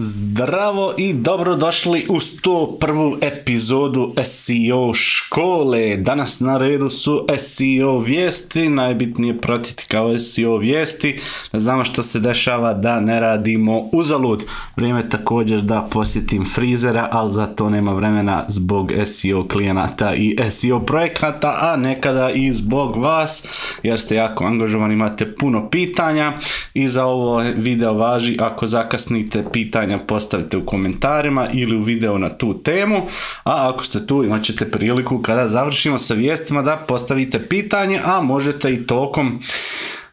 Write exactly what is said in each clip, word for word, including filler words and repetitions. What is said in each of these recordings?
Zdravo i dobrodošli u sto prvu epizodu S E O škole. Danas na redu su S E O vijesti, najbitnije pratiti kao S E O vijesti, da znamo što se dešava, da ne radimo uzalud. Vrijeme također da posjetim frizera, ali za to nema vremena zbog S E O klijenata i S E O projekata, a nekada i zbog vas, jer ste jako angažovani, imate puno pitanja i za ovo video važi ako zakasnite pitanja postavite u komentarima ili u video na tu temu, a ako ste tu imat ćete priliku kada završimo sa vijestima da postavite pitanje, a možete i tokom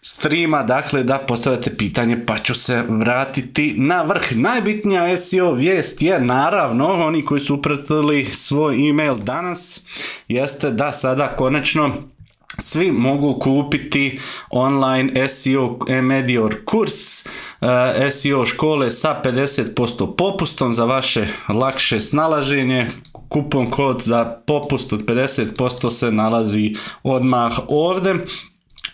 streama, dakle da postavite pitanje pa ću se vratiti na vrh. Najbitnija S E O vijest je naravno, oni koji su upratili svoj email danas, jeste da sada konačno svi mogu kupiti online S E O Medior kurs S E O škole sa pedeset posto popustom za vaše lakše snalaženje. Kupon kod za popust od pedeset posto se nalazi odmah ovdje.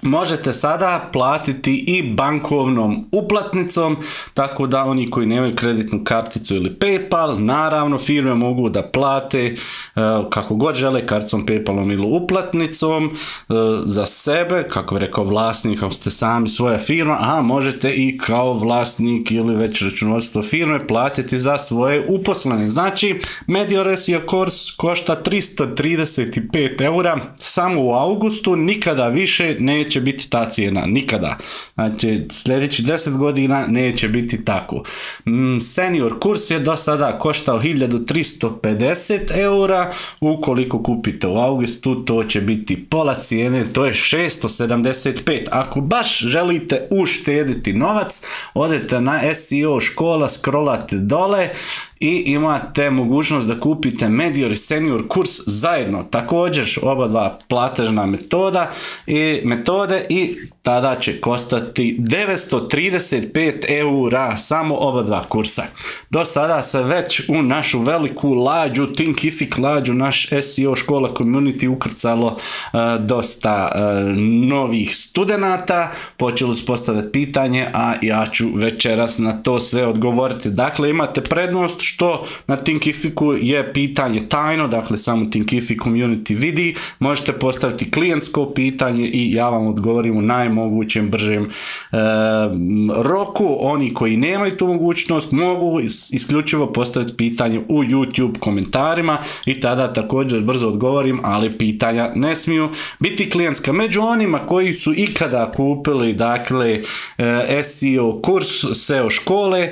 Možete sada platiti i bankovnom uplatnicom, tako da oni koji nemaju kreditnu karticu ili PayPal, naravno firme mogu da plate uh, kako god žele, karticom, PayPalom ili uplatnicom uh, za sebe, kako bi rekao vlasnik, ako ste sami svoja firma, a možete i kao vlasnik ili već računovodstvo firme platiti za svoje uposlene. Znači, Medior S E O kurs košta tristo trideset pet eura samo u augustu, nikada više neće će biti ta cijena, nikada. Znači, sljedeći deset godina neće biti tako. Senior kurs je do sada koštao hiljadu tristo pedeset eura, ukoliko kupite u augustu, to će biti pola cijene, to je šesto sedamdeset pet. Ako baš želite uštediti novac, odete na S E O škola, scrollate dole i imate mogućnost da kupite Medior i Senior kurs zajedno. Također oba dva platežna metoda i metode i tada će kostati devetsto trideset pet eura samo oba dva kursa. Do sada se već u našu veliku lađu, Thinkific lađu, naš S E O škola community ukrcalo uh, dosta uh, novih studenata, počeli su postaviti pitanje, a ja ću večeras na to sve odgovoriti. Dakle, imate prednost što na Thinkificu je pitanje tajno, dakle samo Thinkific community vidi, možete postaviti klijentsko pitanje i ja vam odgovorim u najmogućem bržem e, roku. Oni koji nemaju tu mogućnost mogu isključivo postaviti pitanje u YouTube komentarima i tada također brzo odgovorim, ali pitanja ne smiju biti klijentska. Među onima koji su ikada kupili dakle S E O kurs S E O škole,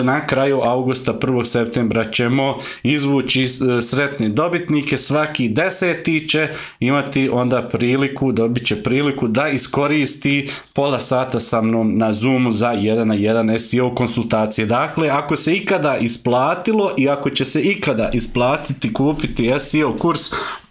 na kraju augusta, prvog septembra ćemo izvući sretne dobitnike, svaki deseti će imati onda priliku, dobit će priliku da iskoristi pola sata sa mnom na Zoomu za jedan na jedan S E O konsultacije. Dakle, ako se ikada isplatilo i ako će se ikada isplatiti kupiti S E O kurs,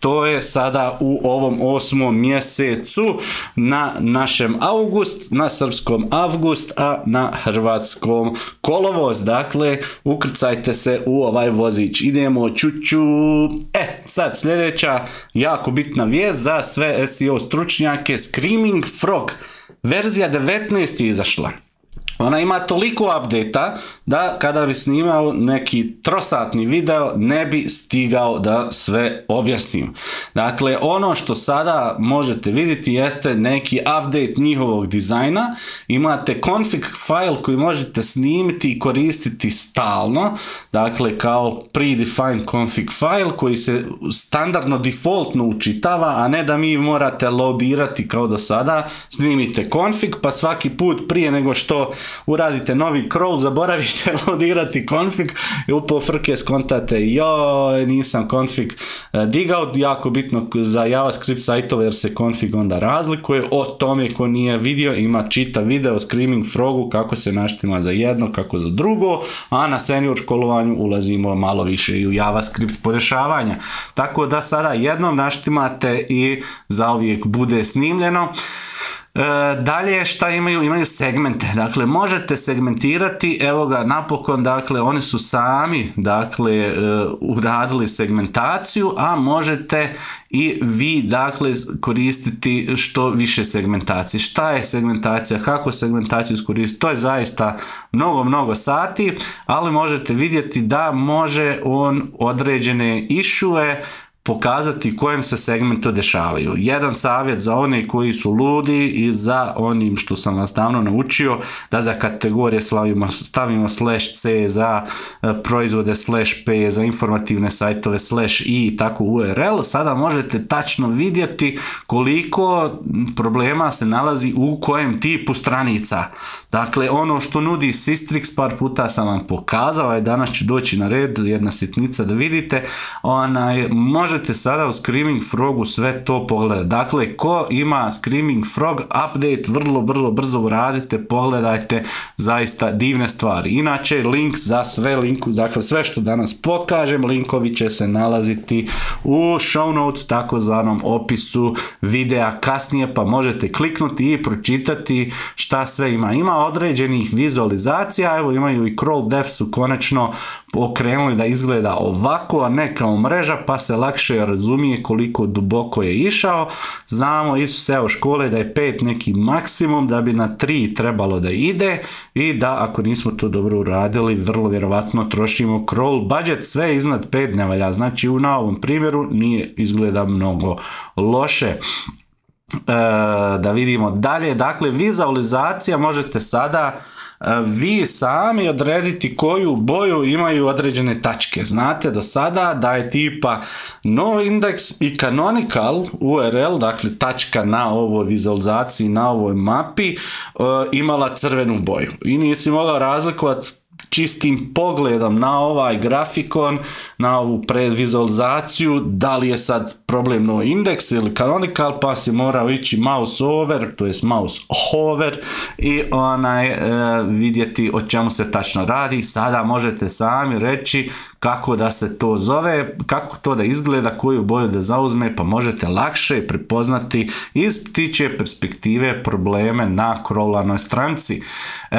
to je sada u ovom osmom mjesecu na našem august, na srpskom avgust, a na hrvatskom kolovoz. Dakle, ukrcajte se u ovaj vozić. Idemo čuču. E, sad sljedeća jako bitna vijest za sve S E O stručnjake. Screaming Frog verzija devetnaest je izašla. Ona ima toliko update-a da kada bi snimao neki trosatni video ne bi stigao da sve objasnim. Dakle, ono što sada možete vidjeti jeste neki update njihovog dizajna. Imate config file koji možete snimiti i koristiti stalno. Dakle, kao predefined config file koji se standardno defaultno učitava, a ne da mi morate loadirati kao do sada. Snimite config pa svaki put prije nego što uradite novi crawl, zaboravite loadirati config i upo frke skontate, joj, nisam config digao. Jako bitno za JavaScript sajtove jer se config onda razlikuje. O tome ko nije vidio, ima čitav video o Screaming Frogu, kako se naštima za jedno, kako za drugo, a na senior školovanju ulazimo malo više i u JavaScript podešavanja. Tako da sada jednom naštimate i zauvijek bude snimljeno. E, dalje šta imaju? Imaju segmente, dakle možete segmentirati, evo ga napokon, dakle oni su sami dakle e, uradili segmentaciju, a možete i vi dakle koristiti što više segmentacije. Šta je segmentacija, kako segmentaciju iskoristiti, to je zaista mnogo, mnogo sati, ali možete vidjeti da može on određene issue pokazati kojem se segmentu dešavaju. Jedan savjet za one koji su ludi i za onim što sam vas davno naučio, da za kategorije stavimo, stavimo slash c, za proizvode slash p, za informativne sajtove slash i i tako U R L. Sada možete tačno vidjeti koliko problema se nalazi u kojem tipu stranica. Dakle, ono što nudi Sistrix, par puta sam vam pokazao, a danas će doći na red jedna sitnica da vidite, onaj, možete sada u Screaming Frogu sve to pogledati. Dakle, ko ima Screaming Frog update, vrlo, vrlo brzo uradite, pogledajte, zaista divne stvari. Inače, link za sve, linku, dakle, sve što danas pokažem, linkovi će se nalaziti u show notes, takozvanom opisu videa kasnije, pa možete kliknuti i pročitati šta sve ima. Ima određenih vizualizacija, evo imaju i Crawl Dev su konačno okrenuli da izgleda ovako, a ne kao mreža, pa se lakše razumije koliko duboko je išao. Znamo iz S E O škole da je pet neki maksimum, da bi na tri trebalo da ide i da ako nismo to dobro uradili, vrlo vjerovatno trošimo crawl budget, sve iznad pet ne valja. Znači na ovom primjeru nije izgleda mnogo loše. E, da vidimo dalje, dakle vizualizacija možete sada vi sami odrediti koju boju imaju određene tačke. Znate do sada da je tipa noindex i canonical U R L, dakle tačka na ovoj vizualizaciji, na ovoj mapi imala crvenu boju i nisi mogao razlikovati čistim pogledom na ovaj grafikon, na ovu predvizualizaciju, da li je sad problem noindex ili canonical, pa si morao ići mouse over, to jest mouse hover i onaj e, vidjeti o čemu se tačno radi. Sada možete sami reći kako da se to zove, kako to da izgleda, koju boju da zauzme, pa možete lakše prepoznati iz ptičje perspektive probleme na crawlanoj stranci. E,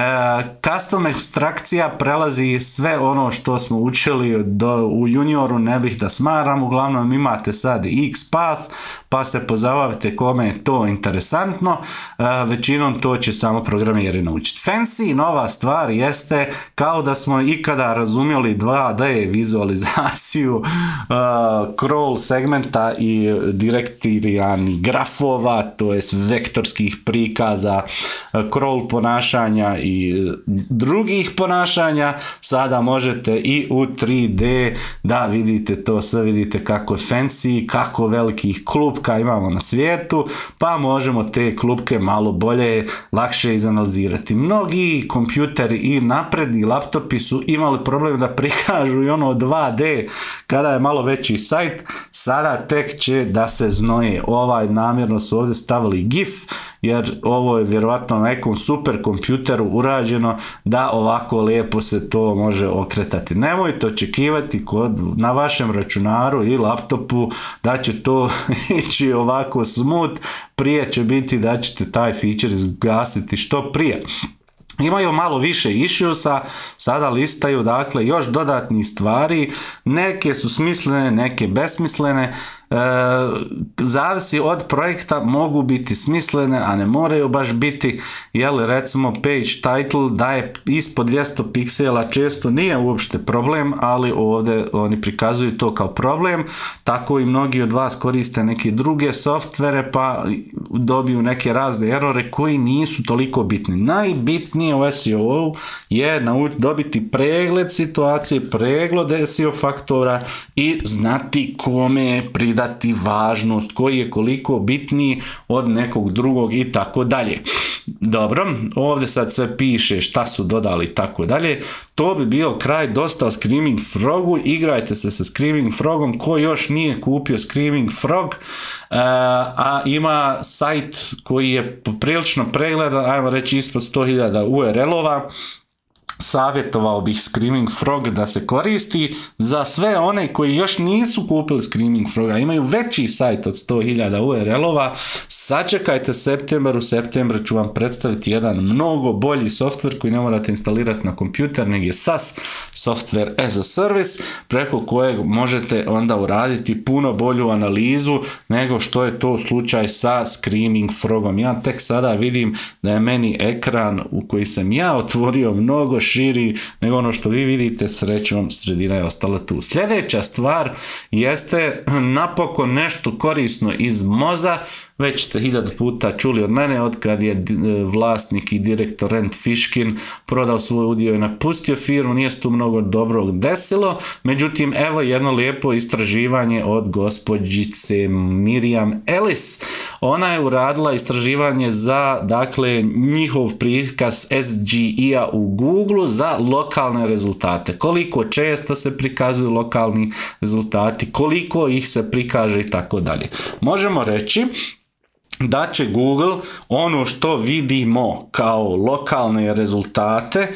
custom ekstrakcija prelazi sve ono što smo učili do, u junioru, ne bih da smaram, uglavnom imate sad XPath, pa se pozabavite kome je to interesantno, e, većinom to će samo programeri naučiti. Fancy nova stvar jeste kao da smo ikada razumjeli dva D vizualizaciju uh, crawl segmenta i direktiranih grafova, to jest vektorskih prikaza, uh, crawl ponašanja i drugih ponašanja. Sada možete i u tri D da vidite to sve, vidite kako je fancy, kako velikih klupka imamo na svijetu, pa možemo te klupke malo bolje, lakše izanalizirati. Mnogi kompjuteri i napredni laptopi su imali problem da prikažu i ono dva D kada je malo veći sajt, sada tek će da se znoje. Ovaj namjerno su ovdje stavili GIF, jer ovo je vjerovatno na nekom super kompjuteru urađeno da ovako lijepo se to može okretati. Nemojte očekivati kod, na vašem računaru i laptopu da će to ići ovako smooth, prije će biti da ćete taj feature izgasiti što prije. Imaju malo više issuesa, sada listaju dakle još dodatnih stvari, neke su smislene, neke besmislene, e, zavisi od projekta, mogu biti smislene, a ne moraju baš biti, jel recimo page title da je ispod dvjesto piksela često nije uopšte problem, ali ovdje oni prikazuju to kao problem, tako i mnogi od vas koriste neke druge softvere pa dobiju neke razne errore koji nisu toliko bitni. Najbitnije u S E O je dobiti pregled situacije, pregled S E O faktora i znati kome pridati važnost, koji je koliko bitniji od nekog drugog i tako dalje. Dobro, ovdje sad sve piše šta su dodali i tako dalje. To bi bio kraj dosta o Screaming Frogu. Igrajte se sa Screaming Frogom. Ko još nije kupio Screaming Frog, a ima sajt koji je poprilično pregledan, ajmo reći ispod sto hiljada U R L-ova, savjetovao bih Screaming Frog da se koristi. Za sve one koji još nisu kupili Screaming Froga, imaju veći sajt od sto hiljada U R L-ova, sačekajte septembar, u septembru ću vam predstaviti jedan mnogo bolji softver koji ne morate instalirati na kompjuter, nego je SaaS, Software as a Service, preko kojeg možete onda uraditi puno bolju analizu nego što je to slučaj sa Screaming Frogom. Ja tek sada vidim da je meni ekran u koji sam ja otvorio mnogo širi nego ono što vi vidite, srećom sredina je ostala tu. Sljedeća stvar jeste napokon nešto korisno iz Moza. Već ste hiljadu puta čuli od mene od kad je vlasnik i direktor Rent Fishkin prodao svoj udio i napustio firmu, nije se tu mnogo dobrog desilo, međutim evo jedno lijepo istraživanje od gospođice Miriam Ellis. Ona je uradila istraživanje za dakle njihov prikaz S G E-a u Google za lokalne rezultate. Koliko često se prikazuju lokalni rezultati, koliko ih se prikaže i tako dalje. Možemo reći da će Google ono što vidimo kao lokalne rezultate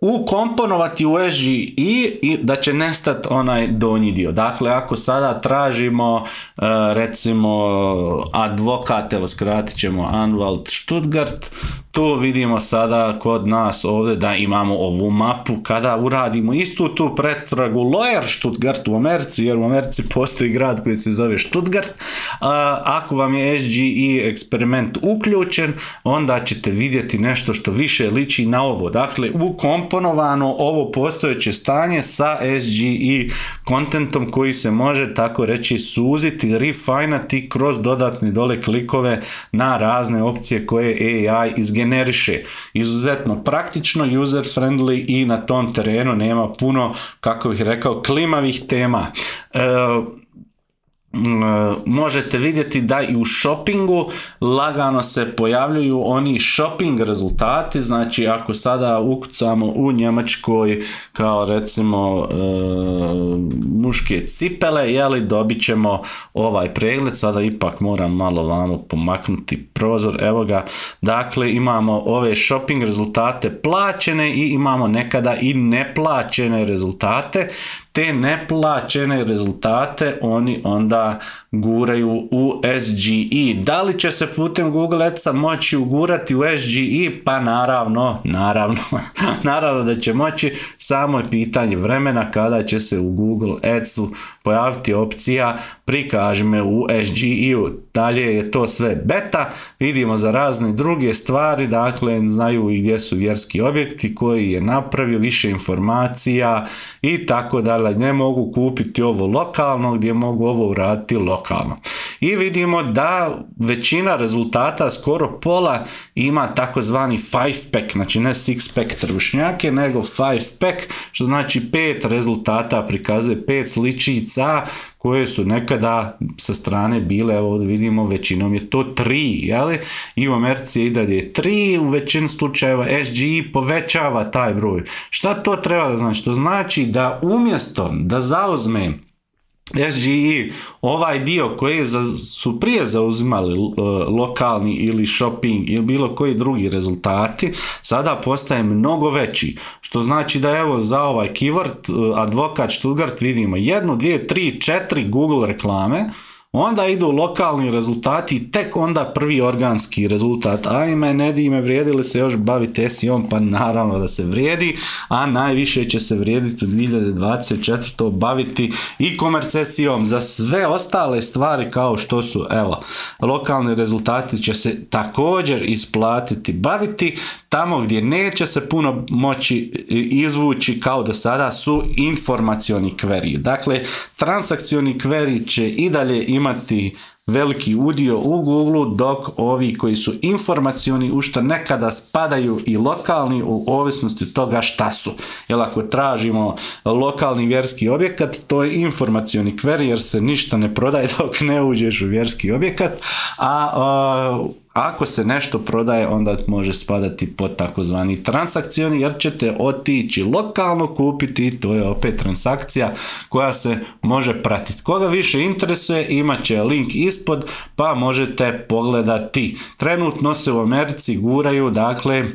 ukomponovati u S G E i da će nestati onaj donji dio. Dakle, ako sada tražimo recimo advokat, evo skratit ćemo Anwalt Stuttgart, tu vidimo sada kod nas ovdje da imamo ovu mapu. Kada uradimo istu tu pretragu Lawyer Stuttgart u Americi, jer u Americi postoji grad koji se zove Stuttgart, ako vam je S G E eksperiment uključen, onda ćete vidjeti nešto što više liči na ovo. Dakle, ukomponovano ovo postojeće stanje sa S G E kontentom koji se može tako reći suziti, refinati kroz dodatne dole klikove na razne opcije koje A I izgeneriše. Izuzetno praktično, user friendly i na tom terenu nema puno, kako bih rekao, klimavih tema. E, možete vidjeti da i u shoppingu lagano se pojavljuju oni shopping rezultati, znači ako sada ukucamo u Njemačkoj kao recimo e, muške cipele, jeli, dobit ćemo ovaj pregled. Sada ipak moram malo vamo pomaknuti prozor, evo ga, dakle imamo ove shopping rezultate plaćene i imamo nekada i neplaćene rezultate. Te neplaćene rezultate oni onda guraju u S G E. Da li će se putem Google Adsa moći ugurati u S G E? Pa naravno, naravno, naravno da će moći, samo je pitanje vremena kada će se u Google Adsu pojaviti opcija prikaži me u S G E-u. Dalje je to sve beta, vidimo za razne druge stvari, dakle znaju i gdje su vjerski objekti, koji je napravio, više informacija i tako dalje. Ne mogu kupiti ovo lokalno, gdje mogu ovo uraditi lokalno. I vidimo da većina rezultata, skoro pola, ima takozvani five pack, znači ne six pack trbušnjake, nego five pack, što znači pet rezultata prikazuje, pet sličica koje su nekada sa strane bile, evo vidimo većinom je to tri, jeli? I u Americi je i dalje tri, u većini slučajeva S G E povećava taj broj. Šta to treba da znači? To znači da umjesto da zauzme S G E ovaj dio koji su prije zauzimali lokalni ili shopping ili bilo koji drugi rezultati, sada postaje mnogo veći, što znači da evo za ovaj keyword advokat Stuttgart vidimo jednu, dvije, tri, četiri Google reklame, onda idu lokalni rezultati i tek onda prvi organski rezultat. Ajme, ne di me, vrijedi li se još baviti S E O-om? Pa naravno da se vrijedi, a najviše će se vrijediti u dvije hiljade dvadeset četvrtoj baviti e-commerce S E O-om. Za sve ostale stvari kao što su, evo, lokalni rezultati će se također isplatiti baviti. Tamo gdje neće se puno moći izvući kao do sada su informacioni query. Dakle, transakcioni query će i dalje imati veliki udio u Google, dok ovi koji su informacioni, u što nekada spadaju i lokalni u ovisnosti od toga šta su. Jer ako tražimo lokalni vjerski objekat, to je informacioni query jer se ništa ne prodaje dok ne uđeš u vjerski objekat, a, a ako se nešto prodaje, onda može spadati pod takozvani transakcioni, jer ćete otići lokalno kupiti i to je opet transakcija koja se može pratiti. Koga više interesuje, imat će link ispod pa možete pogledati. Trenutno se u Americi guraju, dakle,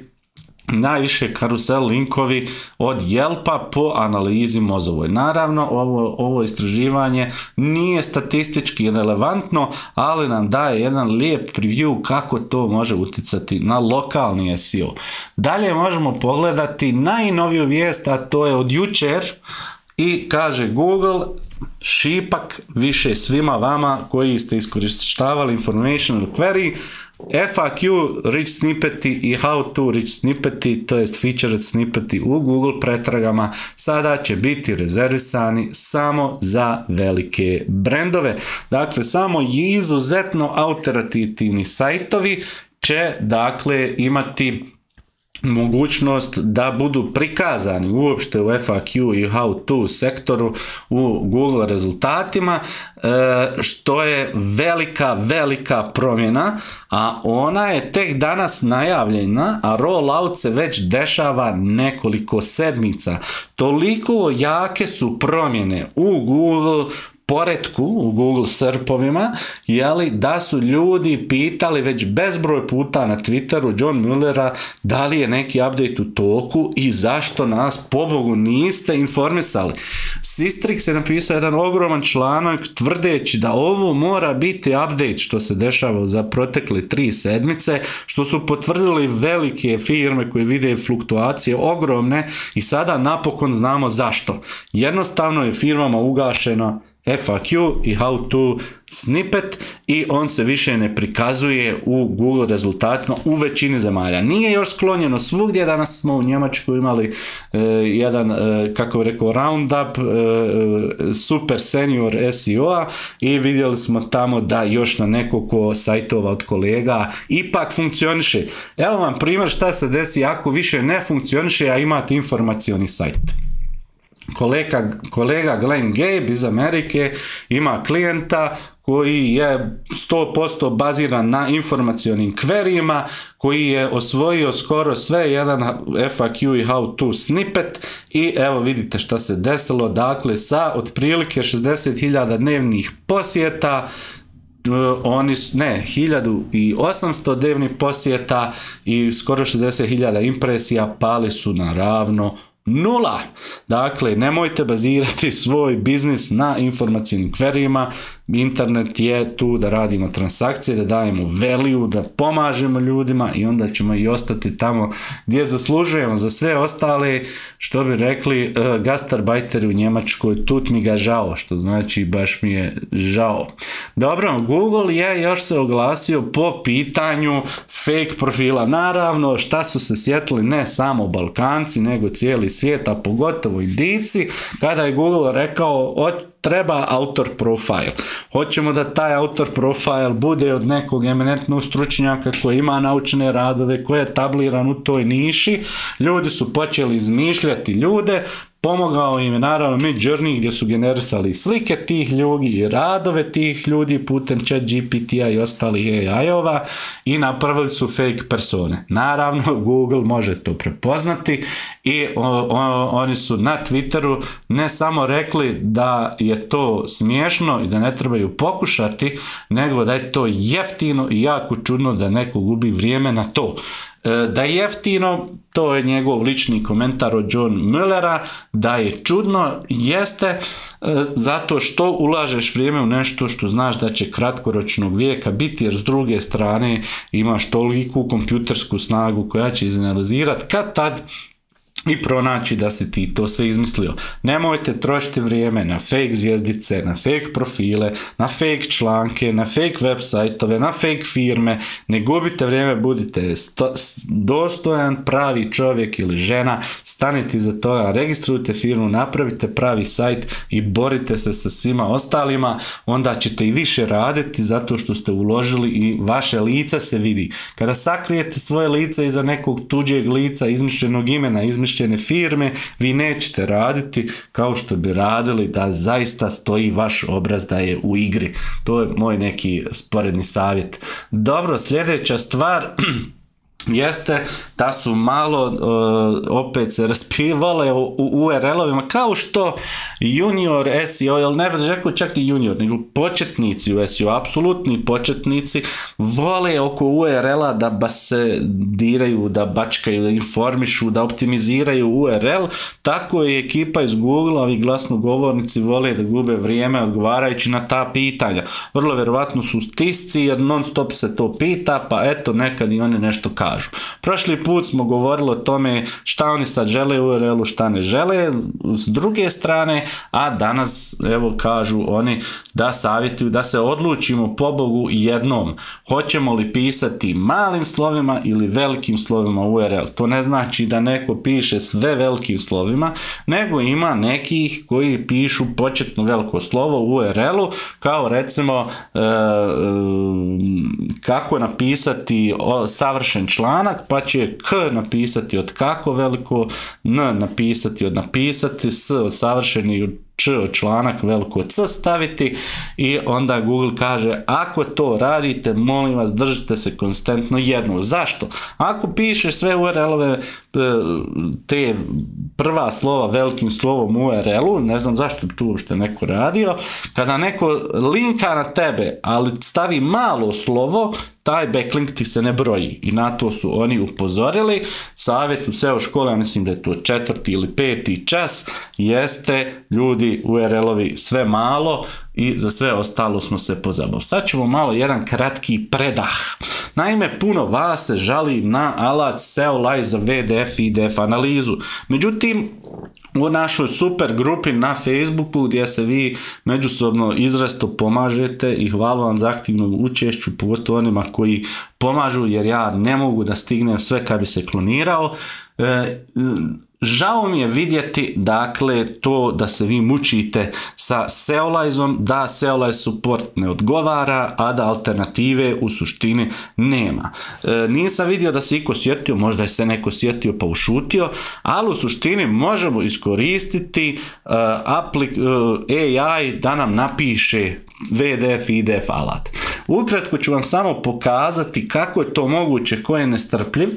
najviše karusel linkovi od Yelpa po analizi mozovoj. Naravno, ovo, ovo istraživanje nije statistički relevantno, ali nam daje jedan lijep preview kako to može utjecati na lokalni S E O. Dalje možemo pogledati najnoviju vijest, a to je od jučer, i kaže Google šipak više svima vama koji ste iskorištavali informational query, F A Q rich snippeti i how to rich snippeti, to jest featured snippeti u Google pretragama sada će biti rezervisani samo za velike brendove. Dakle, samo izuzetno autoritativni sajtovi će dakle imati mogućnost da budu prikazani uopšte u F A Q i how to sektoru u Google rezultatima, što je velika, velika promjena, a ona je tek danas najavljena, a rollout se već dešava nekoliko sedmica. Toliko jake su promjene u Google poretku, u Google serpovima, jeli, da su ljudi pitali već bezbroj puta na Twitteru John Muellera da li je neki update u toku i zašto nas pobogu niste informisali. Sistrix je napisao jedan ogroman članak tvrdeći da ovo mora biti update što se dešava za protekle tri sedmice, što su potvrdili velike firme koje vide fluktuacije ogromne i sada napokon znamo zašto. Jednostavno je firmama ugašeno F A Q i how to snippet i on se više ne prikazuje u Google rezultatima u većini zemalja. Nije još sklonjeno svugdje, danas smo u Njemačkoj imali e, jedan, e, kako bi rekao, roundup e, super senior S E O-a i vidjeli smo tamo da još na nekoliko sajtova od kolega ipak funkcioniše. Evo vam primjer šta se desi ako više ne funkcioniše, a imate informacioni sajt. Kolega, kolega Glenn Gabe iz Amerike ima klijenta koji je sto posto baziran na informacionim queryima, koji je osvojio skoro sve, jedan F A Q i how to snippet, i evo vidite šta se desilo, dakle sa otprilike šezdeset hiljada dnevnih posjeta, oni su, ne, hiljadu osamsto dnevnih posjeta i skoro šezdeset hiljada impresija pali su na ravno nula. Dakle, nemojte bazirati svoj biznis na informacijnim queryima. Internet je tu da radimo transakcije, da dajemo value, da pomažemo ljudima i onda ćemo i ostati tamo gdje zaslužujemo. Za sve ostale, što bi rekli uh, gastarbajteri u Njemačkoj, tut mi ga žao, što znači baš mi je žao. Dobro, Google je još se oglasio po pitanju fake profila. Naravno, šta su se sjetili ne samo Balkanci, nego cijeli svijet, a pogotovo Indijci, kada je Google rekao od treba autor profile. Hoćemo da taj autor profile bude od nekog eminentnog stručnjaka koji ima naučne radove, koji je tabliran u toj niši. Ljudi su počeli izmišljati ljude, pomogao im je naravno Midjourney gdje su generisali slike tih ljudi i radove tih ljudi putem ChatGPT-a i ostalih A I-ova i napravili su fake persone. Naravno, Google može to prepoznati i o, o, oni su na Twitteru ne samo rekli da je to smiješno i da ne trebaju pokušati, nego da je to jeftino i jako čudno da neko gubi vrijeme na to. Da je jeftino, to je njegov lični komentar od John Muellera, da je čudno, jeste zato što ulažeš vrijeme u nešto što znaš da će kratkoročnog vijeka biti, jer s druge strane imaš toliku kompjutersku snagu koja će izanalizirati kad tad i pronaći da si ti to sve izmislio. Nemojte trošiti vrijeme na fake zvjezdice, na fake profile, na fake članke, na fake web sajtove, na fake firme. Ne gubite vrijeme, budite dostojan, pravi čovjek ili žena, stanite iza toga, registrujte firmu, napravite pravi sajt i borite se sa svima ostalima, onda ćete i više raditi zato što ste uložili i vaše lice se vidi. Kada sakrijete svoje lice iza nekog tuđeg lica, izmišljenog imena, izmišljenog firme, vi nećete raditi kao što bi radili da zaista stoji vaš obraz da je u igri. To je moj neki sporedni savjet. Dobro, sljedeća stvar, jeste da su malo uh, opet se raspivale u, u U R L-ovima, kao što junior S E O, jel ne bih rekao čak i junior, nego početnici u S E O, apsolutni početnici, vole oko U R L-a da ba se diraju, da bačkaju, da informišu, da optimiziraju U R L, tako i ekipa iz Google-a, ovi glasnogovornici vole da gube vrijeme odgovarajući na ta pitanja. Vrlo vjerovatno su stisci jer non stop se to pita, pa eto nekad i oni nešto kažu. Prošli put smo govorili o tome šta oni sad žele u U R L-u, šta ne žele s druge strane, a danas evo kažu oni da savjetuju da se odlučimo po Bogu jednom. Hoćemo li pisati malim slovima ili velikim slovima U R L? To ne znači da neko piše sve velikim slovima, nego ima nekih koji pišu početno veliko slovo u U R L-u, kao recimo e, e, kako napisati savršen članak, pa će K napisati od kako veliko, N napisati od napisati, S od savršeni, Č od članak veliko C staviti i onda Google kaže ako to radite, molim vas držite se konstantno jedno. Zašto? Ako pišeš sve U R L-ove te prva slova velikim slovom U R L-u, ne znam zašto bi tu uopšte neko radio, kada neko linka na tebe, ali stavi malo slovo, taj backlink ti se ne broji i na to su oni upozorili. Savjet u S E O škole, ja mislim da je to četvrti ili peti čas, jeste ljudi U R L-ovi sve malo i za sve ostalo smo se pozabavili. Sad ćemo malo jedan kratki predah. Naime, puno vas se žali na alat S E O Live za V D F i D F analizu. Međutim, u našoj super grupi na Facebooku gdje se vi međusobno izrazito pomažete i hvala vam za aktivno učešću, pogotovo onima koji pomažu jer ja ne mogu da stignem sve kad bi se klonirao. E, žao mi je vidjeti dakle to da se vi mučite sa Seolizom, da Seolize support ne odgovara, a da alternative u suštini nema. E, nisam vidio da se iko sjetio, možda je se neko sjetio pa ušutio, ali u suštini možemo iskoristiti uh, aplik, uh, A I da nam napiše V D F i D F alat. Ukratko ću vam samo pokazati kako je to moguće, ko je nestrpljiv,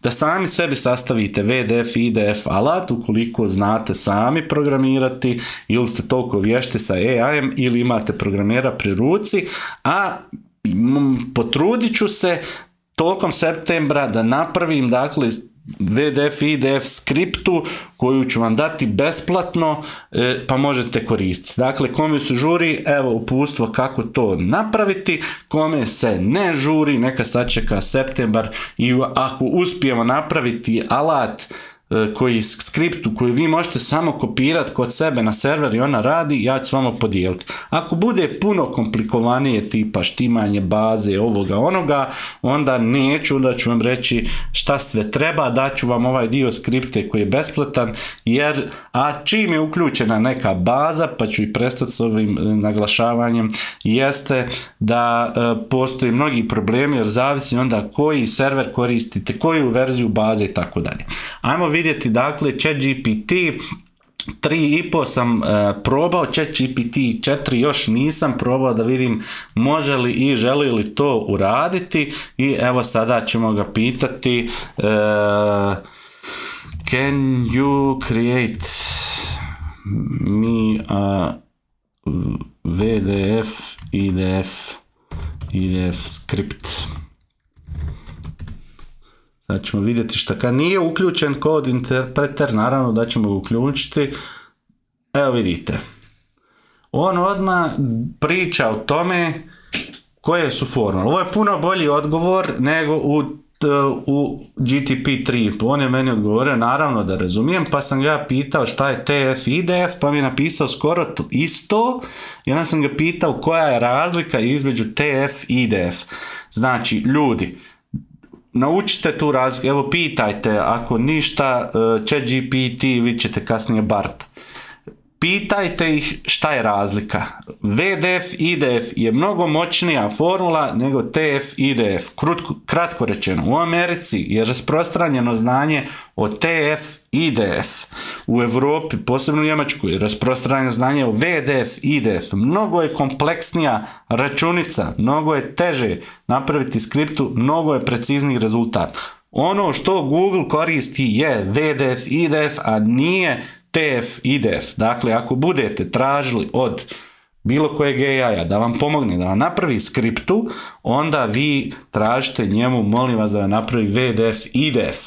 da sami sebi sastavite V D F i D F alat ukoliko znate sami programirati ili ste toliko vješti sa A I-em ili imate programera pri ruci, a potrudit ću se tokom septembra da napravim dakle V D F i D F skriptu koju ću vam dati besplatno, e, pa možete koristiti. Dakle, kome se žuri, evo uputstvo kako to napraviti, kome se ne žuri, neka sačeka septembar i ako uspijemo napraviti alat koji skriptu koju vi možete samo kopirati kod sebe na server i ona radi, ja ću s vama podijeliti. Ako bude puno komplikovanije tipa štimanje baze, ovoga onoga, onda neću, onda ću vam reći šta sve treba, daću vam ovaj dio skripte koji je besplatan, jer a čim je uključena neka baza, pa ću i prestati s ovim naglašavanjem, jeste da e, postoji mnogi problemi, jer zavisi onda koji server koristite, koju verziju baze i tako dalje. Ajmo vidjeti, dakle, ChatGPT tri i po sam e, probao, ChatGPT četiri još nisam probao, da vidim može li i želi li to uraditi i evo sada ćemo ga pitati e, can you create me a V D F i D F i D F script. Sad ćemo vidjeti šta kad nije uključen kod interpreter, naravno da ćemo ga uključiti. Evo vidite. On odmah priča o tome koje su formule. Ovo je puno bolji odgovor nego u, u G T P tri. On je meni odgovorio, naravno da razumijem, pa sam ga pitao šta je T F i D F, pa mi je napisao skoro isto. I onda sam ga pitao koja je razlika između T F i D F. Znači, ljudi, naučite tu razliku, evo pitajte, ako ništa ChatGPT, vi ćete kasnije Bart. Pitajte ih šta je razlika. V D F i D F je mnogo moćnija formula nego T F i D F. Krutko, kratko rečeno, u Americi je rasprostranjeno znanje o T F i D F. U Europi, posebno u Njemačkoj, je rasprostranjeno znanje o V D F i D F. Mnogo je kompleksnija računica, mnogo je teže napraviti skriptu, mnogo je precizniji rezultat. Ono što Google koristi je V D F I D F, a nije T F I D F. Dakle, ako budete tražili od bilo kojeg A I-a da vam pomogne, da vam napravi skriptu, onda vi tražite njemu, molim vas da vam napravi V D F I D F.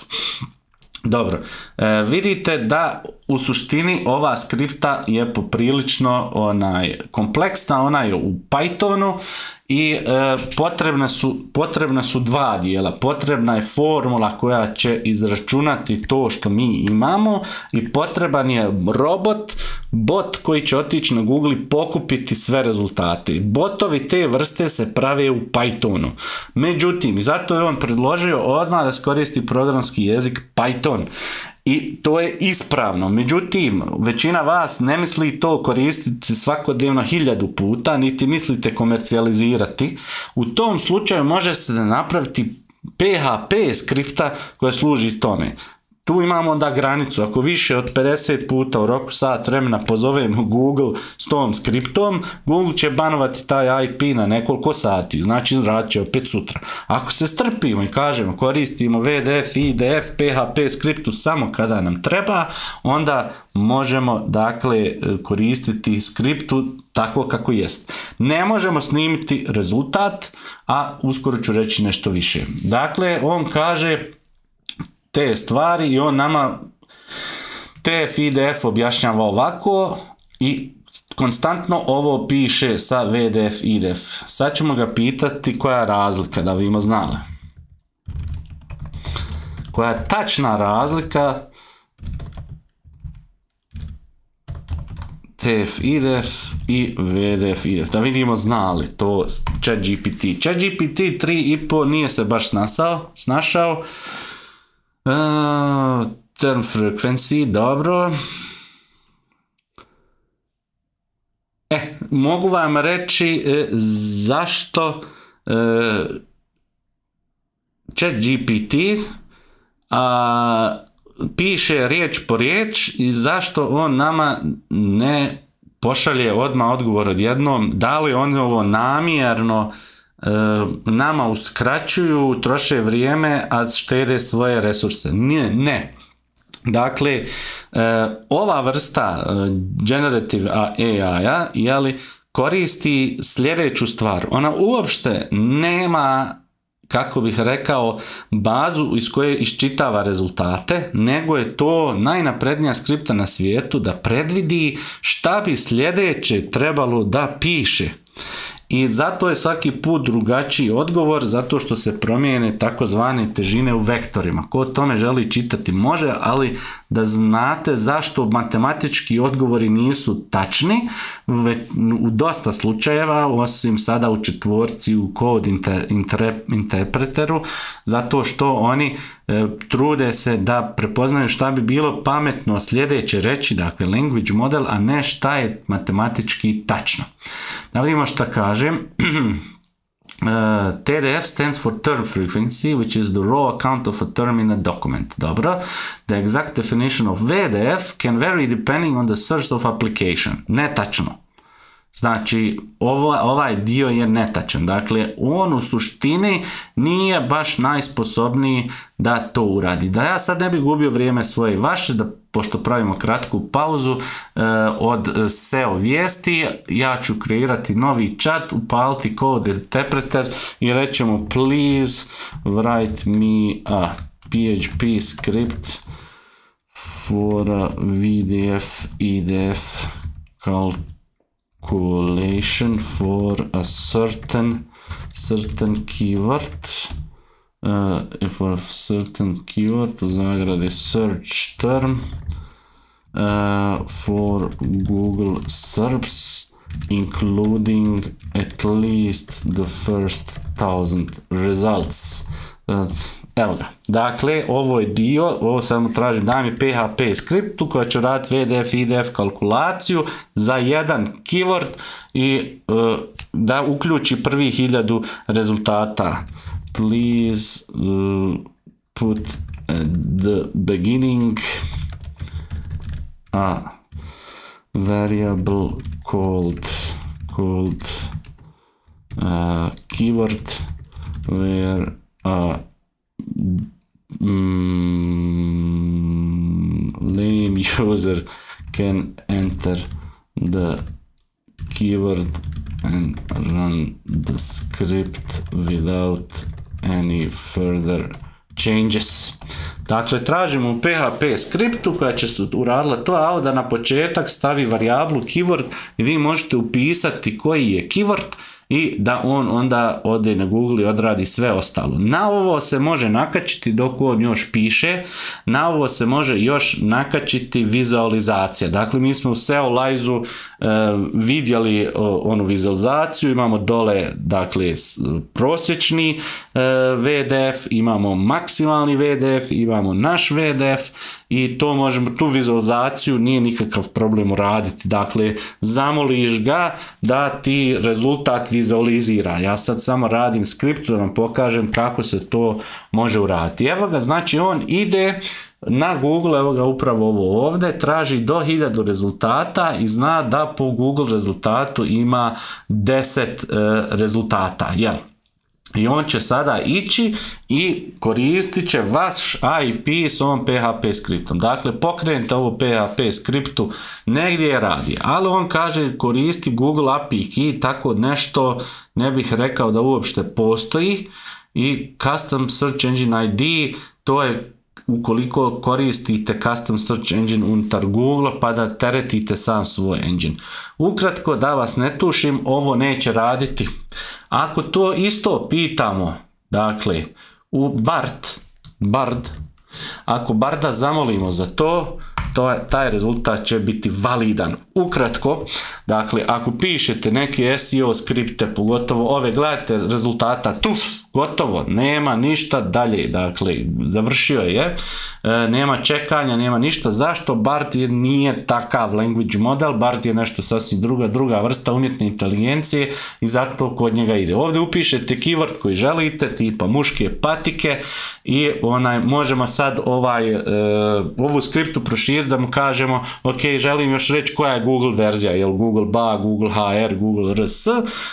Dobro, e, vidite da u suštini ova skripta je poprilično onaj, kompleksna, ona je u Pythonu i e, potrebna su, potrebna su dva dijela. Potrebna je formula koja će izračunati to što mi imamo i potreban je robot, bot koji će otići na Google i pokupiti sve rezultate. Botovi te vrste se prave u Pythonu. Međutim, zato je on predložio odmah da se koristi programski jezik Python. I to je ispravno. Međutim, većina vas ne misli to koristiti svakodnevno hiljadu puta, niti mislite komercijalizirati. U tom slučaju može se napraviti P H P skripta koja služi tome. Tu imamo onda granicu, ako više od pedeset puta u roku sat vremena pozovemo Google s tom skriptom, Google će banovati taj I P na nekoliko sati, znači radit će opet sutra. Ako se strpimo i kažemo koristimo V D F, I D F, P H P skriptu samo kada nam treba, onda možemo dakle koristiti skriptu tako kako jest. Ne možemo snimiti rezultat, a uskoro ću reći nešto više. Dakle, on kaže te stvari i on nama T F I D F objašnjava ovako i konstantno ovo piše sa V D F I D F. Sad ćemo ga pitati koja je razlika, da vidimo znali. Koja je tačna razlika T F I D F i V D F I D F. Da vidimo znali to ChatGPT. ChatGPT tri i po nije se baš snasao, snašao. Uh, term frequency, dobro. E, mogu vam reći e, zašto e, ChatGPT a, piše riječ po riječ i zašto on nama ne pošalje odmah odgovor odjednom, da li on ovo namjerno nama uskraćuju, troše vrijeme, a štede svoje resurse. Ne, ne. Dakle, ova vrsta generative A I-a jeli, koristi sljedeću stvar. Ona uopšte nema, kako bih rekao, bazu iz koje iščitava rezultate, nego je to najnaprednija skripta na svijetu da predvidi šta bi sljedeće trebalo da piše. I zato je svaki put drugačiji odgovor, zato što se promijene takozvane težine u vektorima. Ko o tome želi čitati može, ali da znate zašto matematički odgovori nisu tačni, u dosta slučajeva, osim sada u četvorci u code interpreteru, zato što oni e, trude se da prepoznaju šta bi bilo pametno sljedeće reći, dakle language model, a ne šta je matematički tačno. Da vidimo šta kažem. Uh, T D F stands for term frequency, which is the raw account of a term in a document. Dobro. The exact definition of V D F can vary depending on the source of application. Netačno. Znači, ovo, ovaj dio je netačan. Dakle, on u suštini nije baš najsposobniji da to uradi. Da ja sad ne bi gubio vrijeme svoje i vaše, da pošto pravimo kratku pauzu eh, od S E O vijesti, ja ću kreirati novi chat, upaliti code interpreter i rećemo please write me a P H P script for a V D F I D F calculation for a certain certain keyword. Uh, for a certain keyword, u zagradi search term uh, for Google SERPs including at least the first thousand results. Uh, evo ga. Dakle, ovo je dio, ovo samo tražim, daj mi P H P skriptu koja će raditi V D F I D F kalkulaciju za jedan keyword i uh, da uključi prvi hiljadu rezultata. Please uh, put at the beginning a variable called called uh, keyword where a mm, lame user can enter the keyword and run the script without any further changes. Dakle, tražimo u P H P skriptu koja će se uradila to, a da na početak stavi varijablu keyword i vi možete upisati koji je keyword i da on onda ode na Google i odradi sve ostalo. Na ovo se može nakačiti dok on još piše, na ovo se može još nakačiti vizualizacija. Dakle, mi smo u Seolize-u e, vidjeli o, onu vizualizaciju, imamo dole dakle prosječni e, V D F, imamo maksimalni V D F, imamo naš V D F i to možemo, tu vizualizaciju nije nikakav problem uraditi. Dakle, zamoliš ga da ti rezultat vizualizira. Ja sad samo radim skript da vam pokažem kako se to može uraditi. Evo ga, znači on ide na Google, evo ga upravo ovo ovdje, traži do hiljadu rezultata i zna da po Google rezultatu ima deset e, rezultata, jel? I on će sada ići i koristit će vaš I P s ovom P H P skriptom. Dakle, pokrenite ovo P H P skriptu negdje je radi, ali on kaže koristi Google A P I Key, tako nešto ne bih rekao da uopšte postoji. I Custom Search Engine I D, to je ukoliko koristite Custom Search Engine unutar Google pa da teretite sam svoj engine. Ukratko, da vas ne tušim, ovo neće raditi. Ako to isto pitamo, dakle, u Bard, Bard, ako Barda zamolimo za to, to je, taj rezultat će biti validan. Ukratko, dakle, ako pišete neke S E O skripte, pogotovo ove, gledajte rezultata, tuf, gotovo, nema ništa dalje, dakle, završio je, e, nema čekanja, nema ništa. Zašto? Bard je, nije takav language model, Bard je nešto sasvim druga, druga vrsta umjetne inteligencije i zato kod njega ide. Ovdje upišete keyword koji želite, tipa muške patike i onaj, možemo sad ovaj, e, ovu skriptu proširiti da mu kažemo, ok, želim još reći koja je Google verzija, jel Google B A, Google H R, Google R S,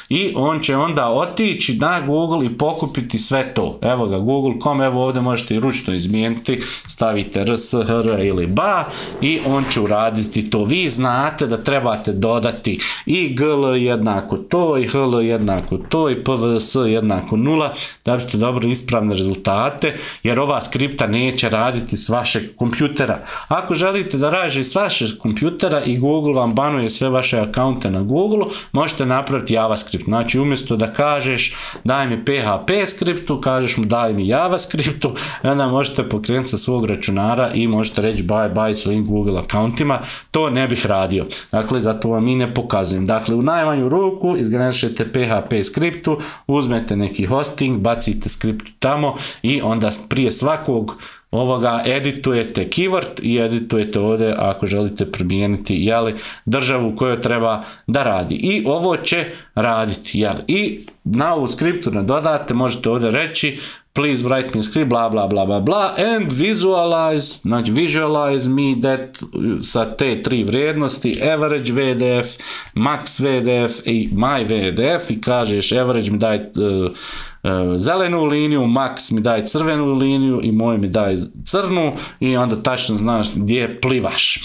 i on će onda otići na Google i pokupiti sve to. Evo ga, google dot com, evo ovdje možete i ručno izmijeniti, stavite R S, H R ili B A i on će uraditi to. Vi znate da trebate dodati i G L jednako to, i H L jednako to, i P V S jednako nula, da biste dobili ispravne rezultate, jer ova skripta neće raditi s vašeg kompjutera. Ako želite da radi s vašeg kompjutera i Google vam banuje sve vaše akaunte na Google, možete napraviti JavaScript. Znači, umjesto da kažeš daj mi P H P skriptu, kažeš mu daj mi JavaScriptu, onda možete pokrenuti sa svog računara i možete reći bye bye svojim Google akauntima. To ne bih radio. Dakle, zato vam i ne pokazujem. Dakle, u najmanju ruku izgenerišete P H P skriptu, uzmete neki hosting, bacite skriptu tamo i onda prije svakog ovoga editujete keyword i editujete ovdje ako želite promijeniti, jeli, državu u kojoj treba da radi. I ovo će raditi, jeli. I na ovu skriptu nadodate, možete ovdje reći please write me a script, bla bla bla bla bla, and visualize, znači visualize me that sa te tri vrijednosti, average V D F, max V D F i my V D F, i kažeš average mi daj uh, uh, zelenu liniju, max mi daj crvenu liniju i moj mi daj crnu i onda tačno znaš gdje plivaš.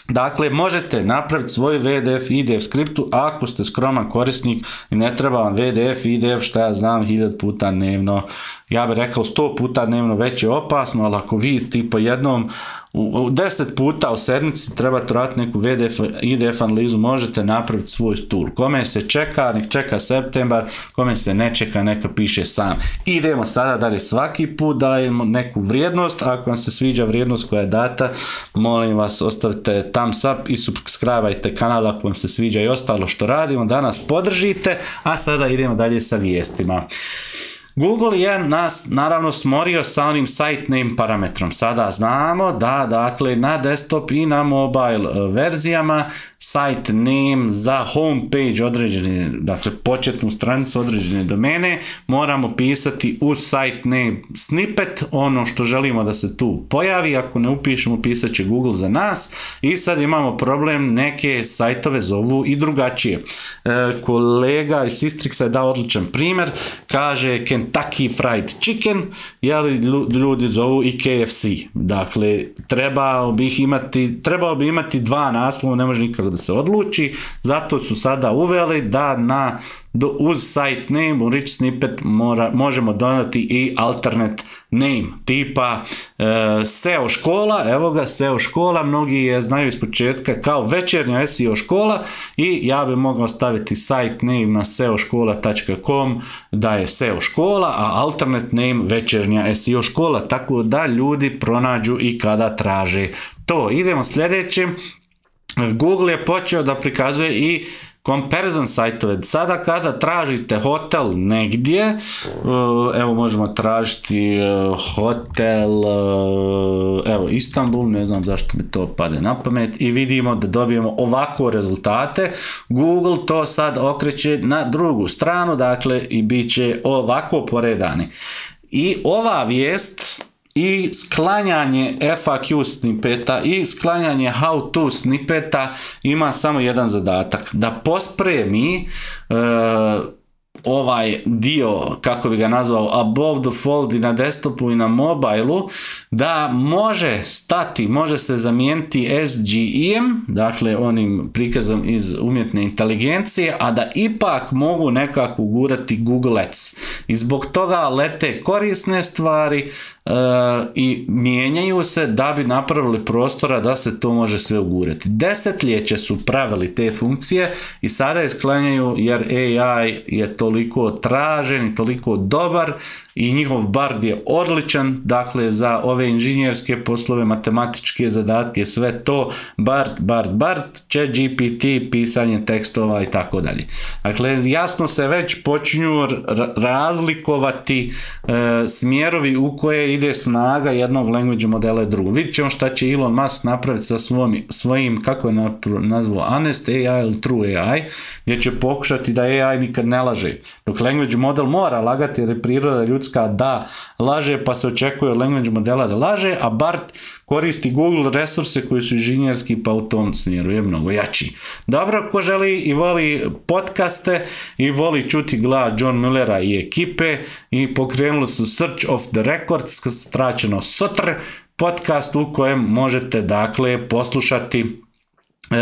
Dakle, možete napraviti svoj V D F i I D F skriptu ako ste skroman korisnik i ne treba vam V D F i I D F, šta ja znam, hiljadu puta dnevno. Ja bih rekao sto puta dnevno već je opasno, ali ako vi tipa jednom u deset puta u sedmici trebate raditi neku V D F i I D F analizu, možete napraviti svoj tool. Kome se čeka, nek čeka septembar, kome se ne čeka, neka piše sam. Idemo sada dalje, svaki put dajemo neku vrijednost, ako vam se sviđa vrijednost koja je data, molim vas ostavite thumbs up i subscribe-ajte kanal ako vam se sviđa i ostalo što radimo, da nas podržite, a sada idemo dalje sa vijestima. Google je nas naravno smorio sa onim site name parametrom. Sada znamo da, dakle, na desktop i na mobile verzijama site name za homepage određene, dakle početnu stranicu određene domene, moramo pisati u site name snippet ono što želimo da se tu pojavi. Ako ne upišemo, pisat će Google za nas. I sad imamo problem, neke sajtove zovu i drugačije. E, kolega iz Sistrixa je dao odličan primjer, kaže can Kentucky Fried Chicken, jeli ljudi zovu i K F C. Dakle, trebao bi imati, trebao bi imati dva naslova, ne može nikako da se odluči, zato su sada uveli da na Do, uz site name u rich snippet mora, možemo dodati i alternate name, tipa e, S E O škola, evo ga S E O škola, mnogi je znaju iz početka kao večernja S E O škola i ja bi mogao staviti site name na seoškola tačka com da je S E O škola, a alternate name večernja S E O škola, tako da ljudi pronađu i kada traže to. Idemo sljedeće. Google je počeo da prikazuje i comparison sajtove. Sada kada tražite hotel negdje, evo možemo tražiti hotel, evo Istanbul, ne znam zašto mi to pade na pamet, i vidimo da dobijemo ovako rezultate. Google to sad okreće na drugu stranu, dakle, i bit će ovako poredani. I ova vijest i sklanjanje F A Q snippeta i sklanjanje how to snippeta ima samo jedan zadatak, da pospremi e, ovaj dio, kako bi ga nazvao, above the fold i na desktopu i na mobilu, da može stati, može se zamijeniti S G E M, dakle onim prikazom iz umjetne inteligencije, a da ipak mogu nekako ugurati Google Ads. I zbog toga lete korisne stvari Uh, i mijenjaju se da bi napravili prostora da se to može sve ugurati. Desetljeće su pravili te funkcije i sada je sklanjaju jer A I je toliko tražen i toliko dobar i njihov Bard je odličan, dakle za ove inženjerske poslove, matematičke zadatke, sve to Bard, Bard, Bard, Chat G P T, pisanje tekstova i tako dalje. Dakle, jasno se već počinju razlikovati e, smjerovi u koje ide snaga jednog language modela i drugog. Vidjet ćemo šta će Elon Musk napraviti sa svojim, svojim kako je nazvao, Honest A I ili True A I, gdje će pokušati da A I nikad ne laže. Dok language model mora lagati jer je priroda ljudska da laže, pa se očekuje od language modela da laže, a Bard koristi Google resurse koji su inženjerski, pa u tom smjeru je mnogo jači. Dobro, ko želi i voli podcaste i voli čuti glas John Muellera i ekipe, i pokrenuli su Search of the Records, skraćeno S O T R, podcast u kojem možete dakle poslušati E,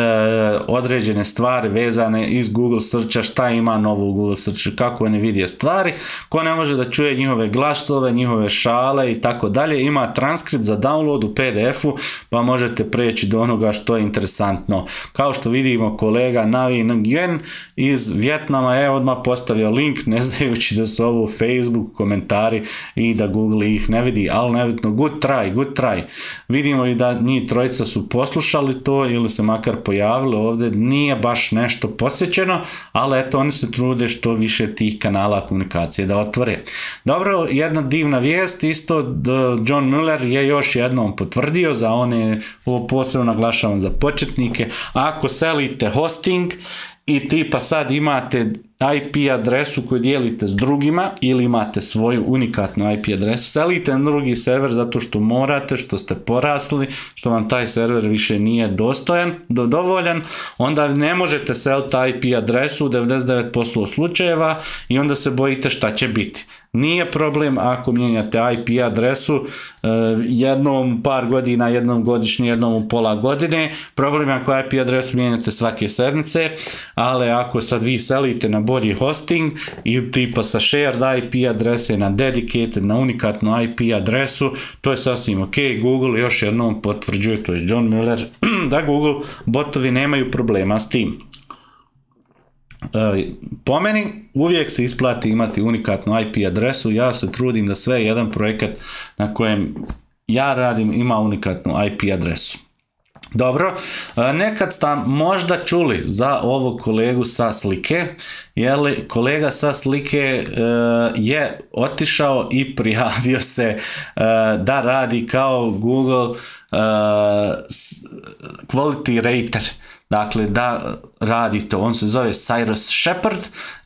određene stvari vezane iz Google Searcha, šta ima novo u Google Searchu, kako oni vidje stvari. Ko ne može da čuje njihove glasove, njihove šale i tako dalje, ima transkript za download u P D F-u, pa možete preći do onoga što je interesantno. Kao što vidimo, kolega Navi Nguyen iz Vjetnama je odmah postavio link, ne znajući da su ovo Facebook komentari i da Google ih ne vidi, ali nebitno, good try, good try. Vidimo i da njih trojica su poslušali to ili se makar pojavili ovdje, nije baš nešto posjećeno, ali eto, oni se trude što više tih kanala komunikacije da otvore. Dobro, jedna divna vijest, isto John Mueller je još jednom potvrdio za one, ovo posebno naglašavam za početnike, ako selite hosting i tipa sad imate I P adresu koju dijelite s drugima ili imate svoju unikatnu I P adresu, selite na drugi server zato što morate, što ste porasli, što vam taj server više nije dostojan, dovoljan, onda ne možete seliti I P adresu u devedeset devet posto slučajeva i onda se bojite šta će biti. Nije problem ako mijenjate I P adresu uh, jednom par godina, jednom godišnje, jednom u pola godine. Problem je ako I P adresu mijenjate svake sedmice, ali ako sad vi selite na bolji hosting i tipa sa shared I P adrese na dedicated, na unikatnu I P adresu, to je sasvim ok. Google još jednom potvrđuje, to je John Mueller, da Google botovi nemaju problema s tim. Po meni uvijek se isplati imati unikatnu I P adresu, ja se trudim da sve jedan projekat na kojem ja radim ima unikatnu I P adresu. Dobro, nekad ste možda čuli za ovog kolegu sa slike, jer kolega sa slike je otišao i prijavio se da radi kao Google Quality Rater. Dakle, da radi to. On se zove Cyrus Shepard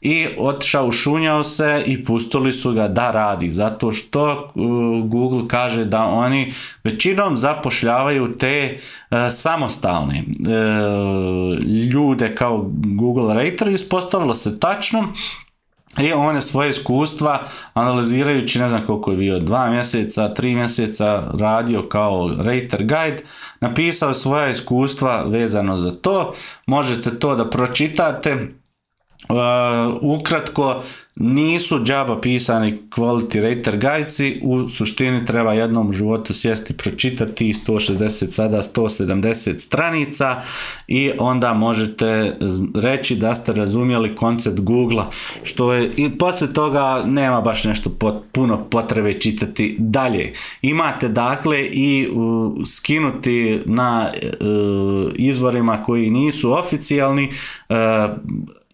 i otišao, ušunjao se i pustili su ga da radi. Zato što uh, Google kaže da oni većinom zapošljavaju te uh, samostalne uh, ljude kao Google Rater. Ispostavilo se tačno. I on je svoje iskustva analizirajući, ne znam koliko je bio, dva mjeseca, tri mjeseca radio kao Rater Guide, napisao svoja iskustva vezano za to. Možete to da pročitate. Uh, ukratko, nisu džaba pisani quality rater guidesi, u suštini treba jednom u životu sjesti, pročitati sto šezdeset, sada sto sedamdeset stranica i onda možete reći da ste razumjeli koncept Google-a, što je, i poslije toga nema baš nešto pot, puno potrebe čitati dalje. Imate dakle i uh, skinuti na uh, izvorima koji nisu oficijalni uh,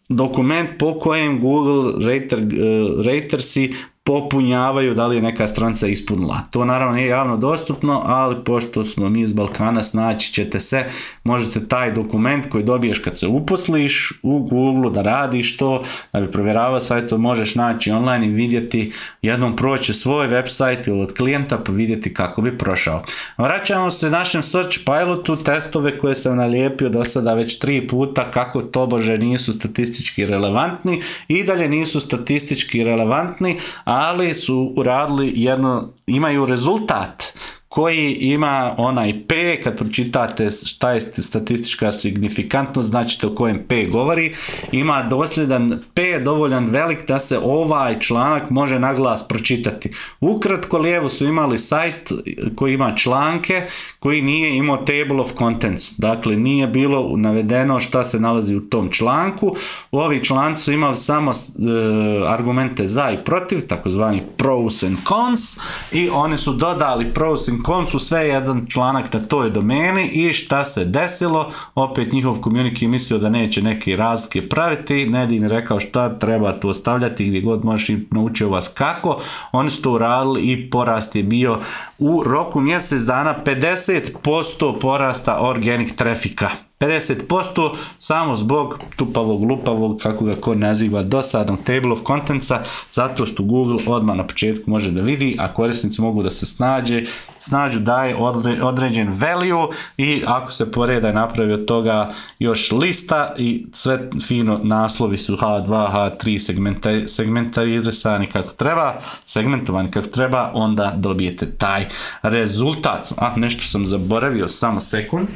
dokument po kojem Google rater, uh, ratersi popunjavaju da li je neka stranica ispunila. To naravno nije javno dostupno, ali pošto smo mi iz Balkana, snaći ćete se, možete taj dokument koji dobiješ kad se uposliš u Google da radiš to, da bi provjeravao sajt, to možeš naći online i vidjeti, jednom proći svoj website ili od klijenta pa vidjeti kako bi prošao. Vraćamo se našem search pilotu, testove koje sam nalijepio do sada već tri puta, kako tobože nisu statistički relevantni, i dalje nisu statistički relevantni, a ali su uradili jedno, imaju rezultat koji ima onaj P, kad pročitate šta je statistička signifikantnost, znači o kojem P govori, ima dosljedan P dovoljan velik da se ovaj članak može na glas pročitati. Ukratko, lijevo su imali sajt koji ima članke, koji nije imao table of contents, dakle nije bilo navedeno šta se nalazi u tom članku. Ovi članci su imali samo uh, argumente za i protiv, takozvani pros and cons, i oni su dodali pros and cons u sve jedan članak na toj domeni. I šta se desilo, opet njihov community mislio da neće neke razlike praviti, Nedim je rekao šta treba to ostavljati gdje god možeš, i naučio vas kako. Oni su to uradili i porast je bio u roku mjesec dana pedeset posto porasta organic trafika. pedeset posto samo zbog tupavog, lupavog, kako ga ko naziva, dosadnog table of contentsa, zato što Google odmah na početku može da vidi, a korisnici mogu da se snađe, snađu daje odre, određen value, i ako se poreda je napravi od toga još lista i sve fino, naslovi su ha dva, ha tri segmenta, segmentarisani kako treba, segmentovani kako treba, onda dobijete taj rezultat. A nešto sam zaboravio, samo sekund.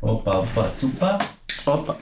Opa, opa, cupa, opa,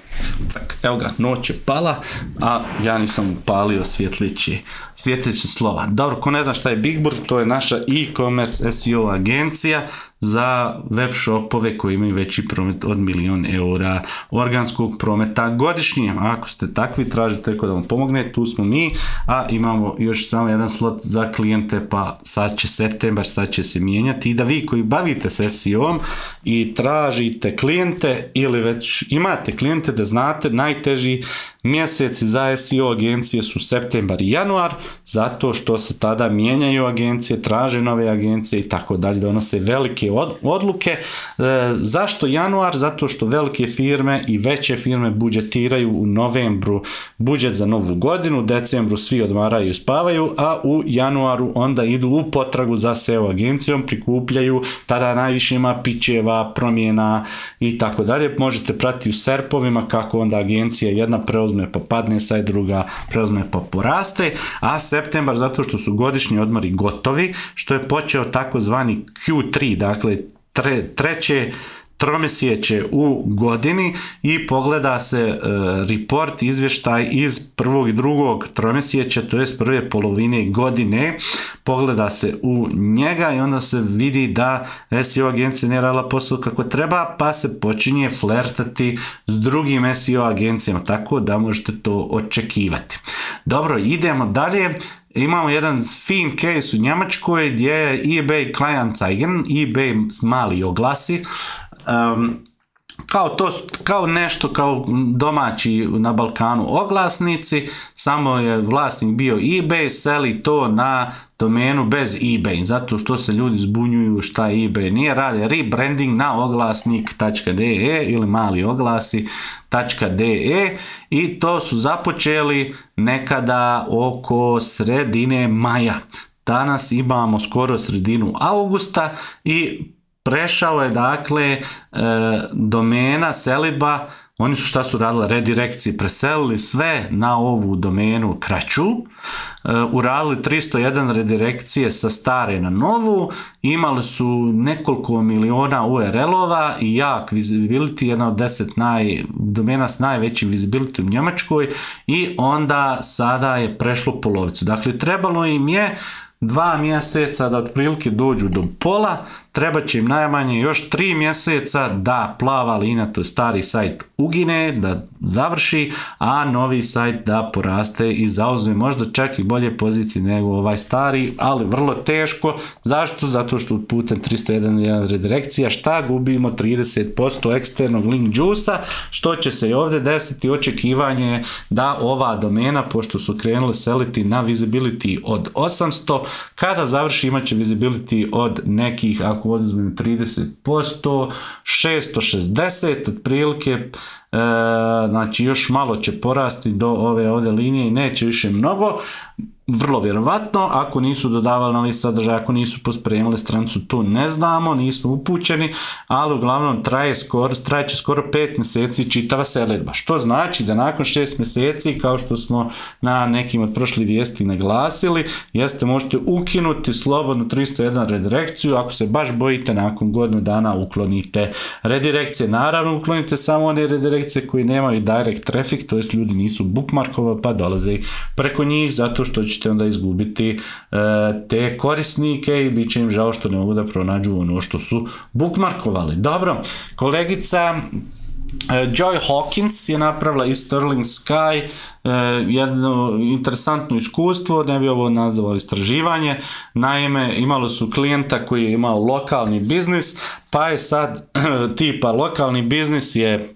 cak, evo ga, noć je pala, a ja nisam upalio svjetlići, svjetlići slova. Dobro, ko ne zna šta je BigBur, to je naša e-commerce S E O agencija za web shopove koji imaju veći promet od milion eura organskog prometa godišnje. Ako ste takvi, tražite ko da vam pomogne, tu smo mi, a imamo još samo jedan slot za klijente, pa sad će septembar, sad će se mijenjati, i da vi koji bavite se S E O-om i tražite klijente ili već imate klijente, da znate najteži mjeseci za S E O agencije su septembar i januar, zato što se tada mijenjaju agencije, traže nove agencije i tako dalje, donose velike odluke. E, zašto januar? Zato što velike firme i veće firme budžetiraju u novembru budžet za novu godinu, u decembru svi odmaraju i spavaju, a u januaru onda idu u potragu za S E O agencijom, prikupljaju, tada najviše ima pičeva, promjena i tako dalje. Možete pratiti u serpovima kako onda agencija jedna preuzme pa padne, sad druga preuzme pa poraste, a septembar zato što su godišnji odmori gotovi, što je počeo takozvani Q tri, dakle tre, treće tromjesečje u godini, i pogleda se e, report, izvještaj iz prvog i drugog tromjesečja, to jest prve polovine godine, pogleda se u njega i onda se vidi da S E O agencija nije radila posao kako treba, pa se počinje flertati s drugim S E O agencijama, tako da možete to očekivati. Dobro, idemo dalje. Imamo jedan fin case u Njemačkoj gdje je eBay Kleinanzeigen, eBay mali oglasi, um, kao, to, kao nešto kao domaći na Balkanu oglasnici, samo je vlasnik bio eBay, seli to na domenu bez eBay, zato što se ljudi zbunjuju šta eBay nije, radi rebranding na oglasnik tačka de e ili mali oglasi tačka de e, i to su započeli nekada oko sredine maja. Danas imamo skoro sredinu augusta i prešao je dakle e, domena selidba oni su šta su radili, redirekcije, preselili sve na ovu domenu kraću, uradili tristo jedan redirekcije sa stare na novu, imali su nekoliko miliona U R L-ova i jak visibility, jedna od deset naj, domena s najvećim visibility u Njemačkoj, i onda sada je prešlo polovicu. Dakle, trebalo im je dva mjeseca da otprilike dođu do pola, treba će im najmanje još tri mjeseca da plava linija, to je stari sajt, ugine, da završi, a novi sajt da poraste i zauzme možda čak i bolje pozicije nego ovaj stari, ali vrlo teško. Zašto? Zato što putem tristo jedan redirekcija šta gubimo trideset posto eksternog link juice-a, što će se i ovdje desiti. Očekivanje da ova domena, pošto su krenuli seliti na visibility od osamsto, kada završi imat će visibility od nekih, ako oduzmem trideset posto, šesto šezdeset otprilike, e, znači još malo će porasti do ove ovdje linije i neće više mnogo. Vrlo vjerovatno, ako nisu dodavali novi sadržaj, ako nisu pospremili stranicu, to ne znamo, nismo upućeni, ali uglavnom traje skoro, traje će skoro pet mjeseci čitava selidba, što znači da nakon šest mjeseci, kao što smo na nekim od prošlih vijesti naglasili, jeste možete ukinuti slobodno tristo jedan redirekciju, ako se baš bojite nakon godinu dana uklonite redirekcije. Naravno, uklonite samo one redirekcije koji nemaju direct traffic, to jest ljudi nisu bookmarkovali pa dolaze preko njih, zato što ćete onda izgubiti e, te korisnike i bit će im žao što ne mogu da pronađu ono što su bookmarkovali. Dobro, kolegica Joy Hawkins je napravila iz Sterling Sky eh, jedno interesantno iskustvo, ne bi ovo nazvao istraživanje. Naime, imalo su klijenta koji je imao lokalni biznis, pa je sad tipa lokalni biznis je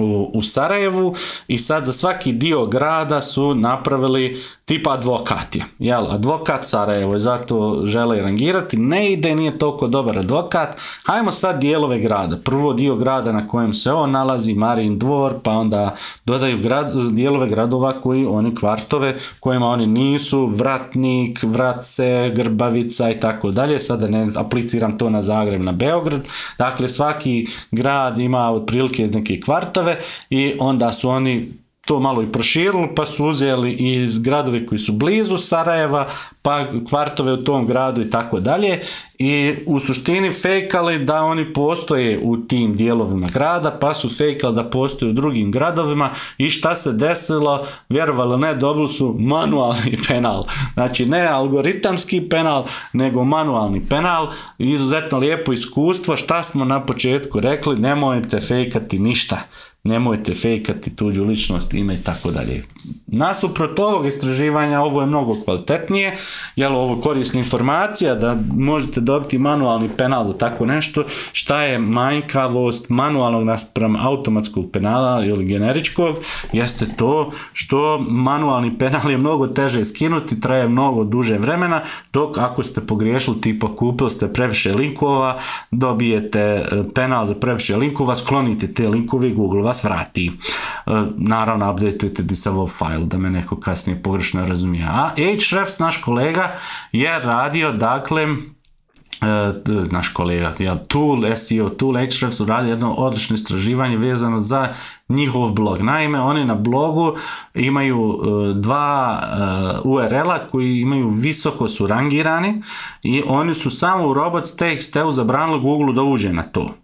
U, u Sarajevu i sad za svaki dio grada su napravili tipa advokat je, jel, advokat Sarajevo i zato žele rangirati, ne ide, nije toliko dobar advokat, hajmo sad dijelove grada, prvo dio grada na kojem se on nalazi, Marin dvor, pa onda dodaju grad, dijelove gradova koji oni kvartove kojima oni nisu, Vratnik, Vratce, Grbavica i tako dalje, sada ne apliciram to na Zagreb, na Beograd, dakle svaki grad ima otprilike neke kvart i onda su oni to malo i proširili, pa su uzeli iz gradove koji su blizu Sarajeva, pa kvartove u tom gradu i tako dalje, i u suštini fejkali da oni postoje u tim dijelovima grada, pa su fejkali da postoje u drugim gradovima i šta se desilo, vjerovali ne, dobili su manualni penal, znači ne algoritamski penal, nego manualni penal. Izuzetno lijepo iskustvo. Šta smo na početku rekli, nemojte fejkati ništa, nemojte fejkati tuđu ličnost, ime i tako dalje. Nasuprot ovog istraživanja ovo je mnogo kvalitetnije, jer ovo korisna informacija da možete dobiti manualni penal za tako nešto. Šta je manjkavost manualnog naspram automatskog penala ili generičkog, jeste to što manualni penal je mnogo teže skinuti, traje mnogo duže vremena, dok ako ste pogriješili, tipa kupili ste previše linkova, dobijete penal za previše linkova, sklonite te linkove i Google vas vrati. Naravno, updateujete disavow file, da me neko kasnije pogrešno razumije. A Ahrefs, naš kolega, je radio, dakle, Uh, naš kolega, ja, Tool, S E O Tool, Ahrefs radi jedno odlično istraživanje vezano za njihov blog. Naime, oni na blogu imaju uh, dva uh, U R L-a koji imaju visoko su rangirani i oni su samo u robots.txt-u zabranili Google da uđe na to.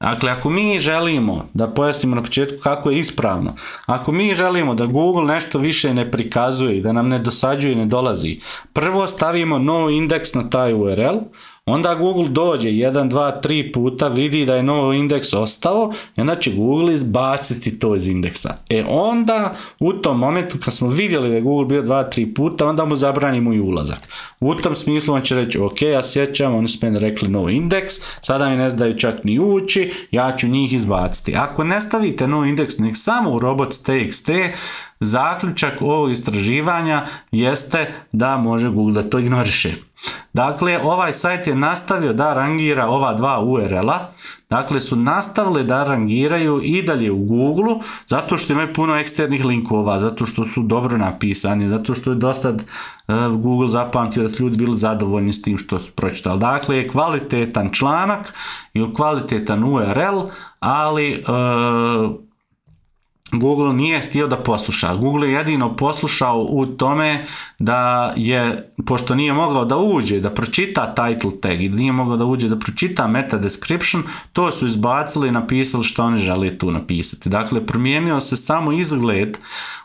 Dakle, ako mi želimo, da pojasnimo na početku kako je ispravno, ako mi želimo da Google nešto više ne prikazuje i da nam ne dosađuje i ne dolazi, prvo stavimo no indeks na taj U R L, onda Google dođe jedan, dva, tri puta, vidi da je no indeks ostao i onda će Google izbaciti to iz indeksa. E onda, u tom momentu kad smo vidjeli da je Google bio dva, tri puta, onda mu zabranimo i ulazak. U tom smislu on će reći, ok, ja sjećam, oni su meni rekli no indeks, sada mi ne zdaju čak ni ući, ja ću njih izbaciti. Ako ne stavite no indeks, nek samo u robots.txt, zaključak ovog istraživanja jeste da može Google da to ignoriše. Dakle, ovaj sajt je nastavio da rangira ova dva U R L-a, dakle su nastavili da rangiraju i dalje u Google, zato što imaju puno eksternih linkova, zato što su dobro napisani, zato što je dosta uh, Google zapamtio da su ljudi bili zadovoljni s tim što su pročitali. Dakle, je kvalitetan članak ili kvalitetan U R L, ali uh, Google nije htio da posluša. Google je jedino poslušao u tome da je, pošto nije mogao da uđe, da pročita title tag i nije mogao da uđe da pročita meta description, to su izbacili i napisali što oni žele tu napisati. Dakle, promijenio se samo izgled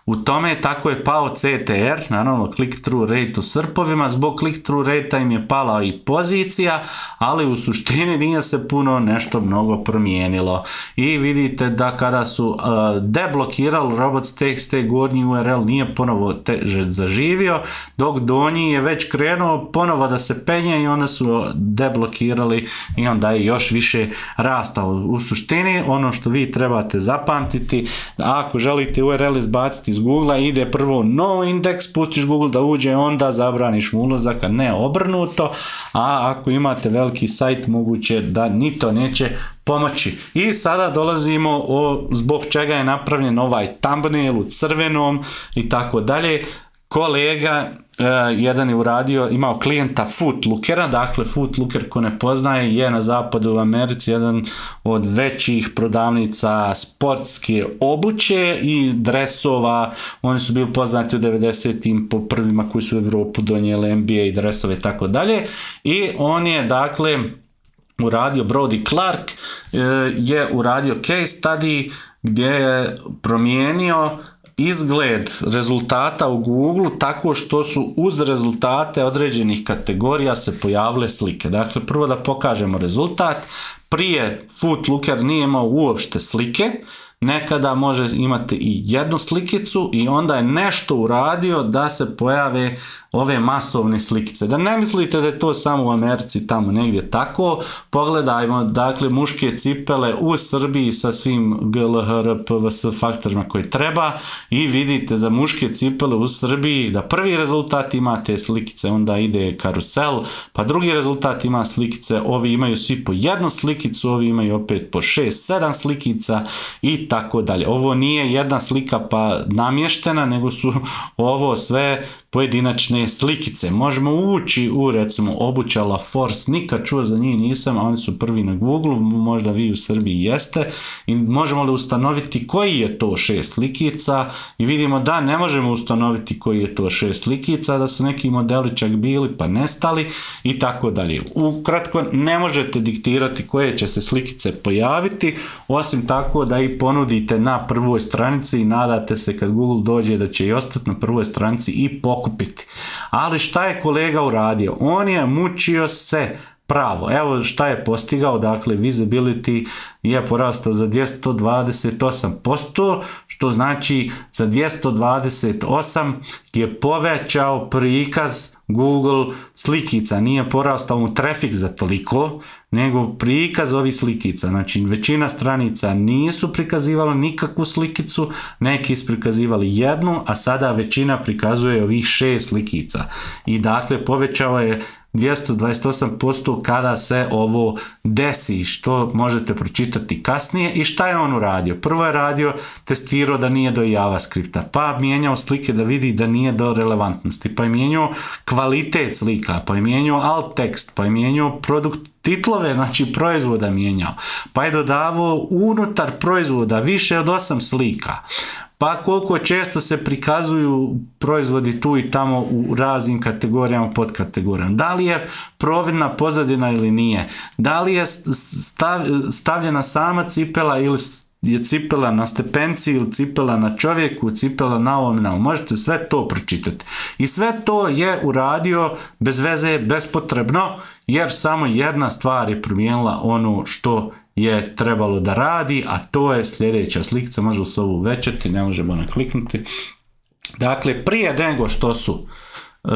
u tome, tako je pao C T R, naravno click-through rate u srpovima, zbog click-through rate im je pala i pozicija, ali u suštini nije se puno nešto mnogo promijenilo. I vidite da kada su uh, deblokirali robots.txt, gornji U R L nije ponovo teže zaživio, dok donji je već krenuo ponovo da se penje i onda su deblokirali i onda je još više rastao. U suštini, ono što vi trebate zapamtiti, ako želite U R L izbaciti iz Google, ide prvo no indeks, pustiš Google da uđe, onda zabraniš mu ulazak, a ne obrnuto, a ako imate veliki sajt, moguće da ni to neće pomoći. I sada dolazimo o zbog čega je napravljen ovaj thumbnail u crvenom i tako dalje. Kolega Uh, jedan je uradio, imao klijenta Footlookera, dakle Footlooker ko ne poznaje je na zapadu u Americi jedan od većih prodavnica sportske obuće i dresova. Oni su bili poznati u devedesetim po prvima koji su u Evropu donijeli N B A i dresove i tako dalje. I on je dakle uradio, Brody Clark uh, je uradio case study gdje je promijenio izgled rezultata u Google tako što su uz rezultate određenih kategorija se pojavile slike. Dakle, prvo da pokažemo rezultat. Prije Footlooker nije imao uopšte slike, nekada može imati i jednu slikicu i onda je nešto uradio da se pojave ove masovne slikice. Da ne mislite da je to samo u Americi tamo negdje tako. Pogledajmo, dakle, muške cipele u Srbiji sa svim G L H R P V S faktorima koje treba i vidite za muške cipele u Srbiji da prvi rezultat ima te slikice, onda ide karusel, pa drugi rezultat ima slikice, ovi imaju svi po jednu slikicu, ovi imaju opet po šest sedam slikica i tako dalje. Ovo nije jedna slika pa namještena, nego su ovo sve pojedinačne slikice. Možemo ući u, recimo, obuća La Force, nikad čuo za njih nisam, a oni su prvi na Google, možda vi u Srbiji jeste, i možemo li ustanoviti koji je to šest slikica i vidimo da ne možemo ustanoviti koji je to šest slikica, da su neki modeli čak bili pa nestali i tako dalje. Ukratko, ne možete diktirati koje će se slikice pojaviti, osim tako da i ponudite na prvoj stranici i nadate se kad Google dođe da će i ostati na prvoj stranici i pokupiti. Ali šta je kolega uradio? On je mučio se pravo. Evo šta je postigao, dakle visibility je porastao za dvjesto dvadeset osam posto, što znači za dvjesto dvadeset osam je povećao prikaz Google slikica, nije porastao mu trafik za toliko, nego prikaz ovih slikica. Znači većina stranica nisu prikazivali nikakvu slikicu, neki su prikazivali jednu, a sada većina prikazuje ovih šest slikica. I dakle povećao je dvjesto dvadeset osam posto kada se ovo desi, što možete pročitati kasnije. I šta je on uradio? Prvo je radio, testirao da nije do JavaScripta, pa mijenjao slike da vidi da nije do relevantnosti, pa je mijenjao kvalitet slika, pa je mijenjao alt tekst, pa je mijenjao produkt titlove, znači proizvoda mijenjao, pa je dodavao unutar proizvoda više od osam slika, pa koliko često se prikazuju proizvodi tu i tamo u raznim kategorijama, podkategorijama. Da li je providna pozadina ili nije? Da li je stavljena sama cipela ili je cipela na stepenci ili cipela na čovjeku, cipela na ovom, na ovom. Možete sve to pročitati. I sve to je uradio bez veze, bespotrebno, jer samo jedna stvar je promijenila ono što je trebalo da radi, a to je sljedeća slikica, može se ovo uvećati, ne možemo nakliknuti. Dakle, prije nego što su e,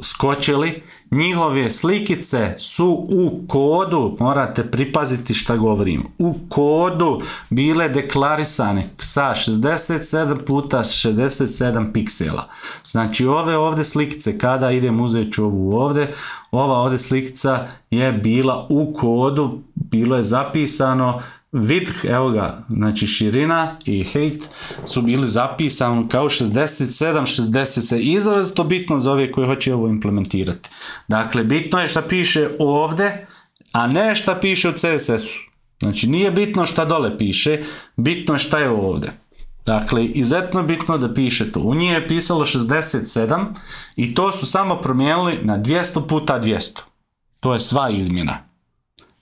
skočili, njihove slikice su u kodu, morate pripaziti šta govorim, u kodu bile deklarisane sa šezdeset sedam puta šezdeset sedam piksela. Znači ove ovdje slikice, kada idem uzet ću ovu ovdje, ova ovdje slikica je bila u kodu, bilo je zapisano width, evo ga, znači širina i height su bili zapisani kao šezdeset sedam šezdeset sedam, izrazito bitno za ove koji hoće ovo implementirati. Dakle, bitno je šta piše ovdje, a ne šta piše u C S S-u. Znači, nije bitno šta dole piše, bitno je šta je ovdje. Dakle, izuzetno bitno da pišete. U njih je pisalo šezdeset sedam i to su samo promijenili na dvjesto puta dvjesto. To je sva izmjena.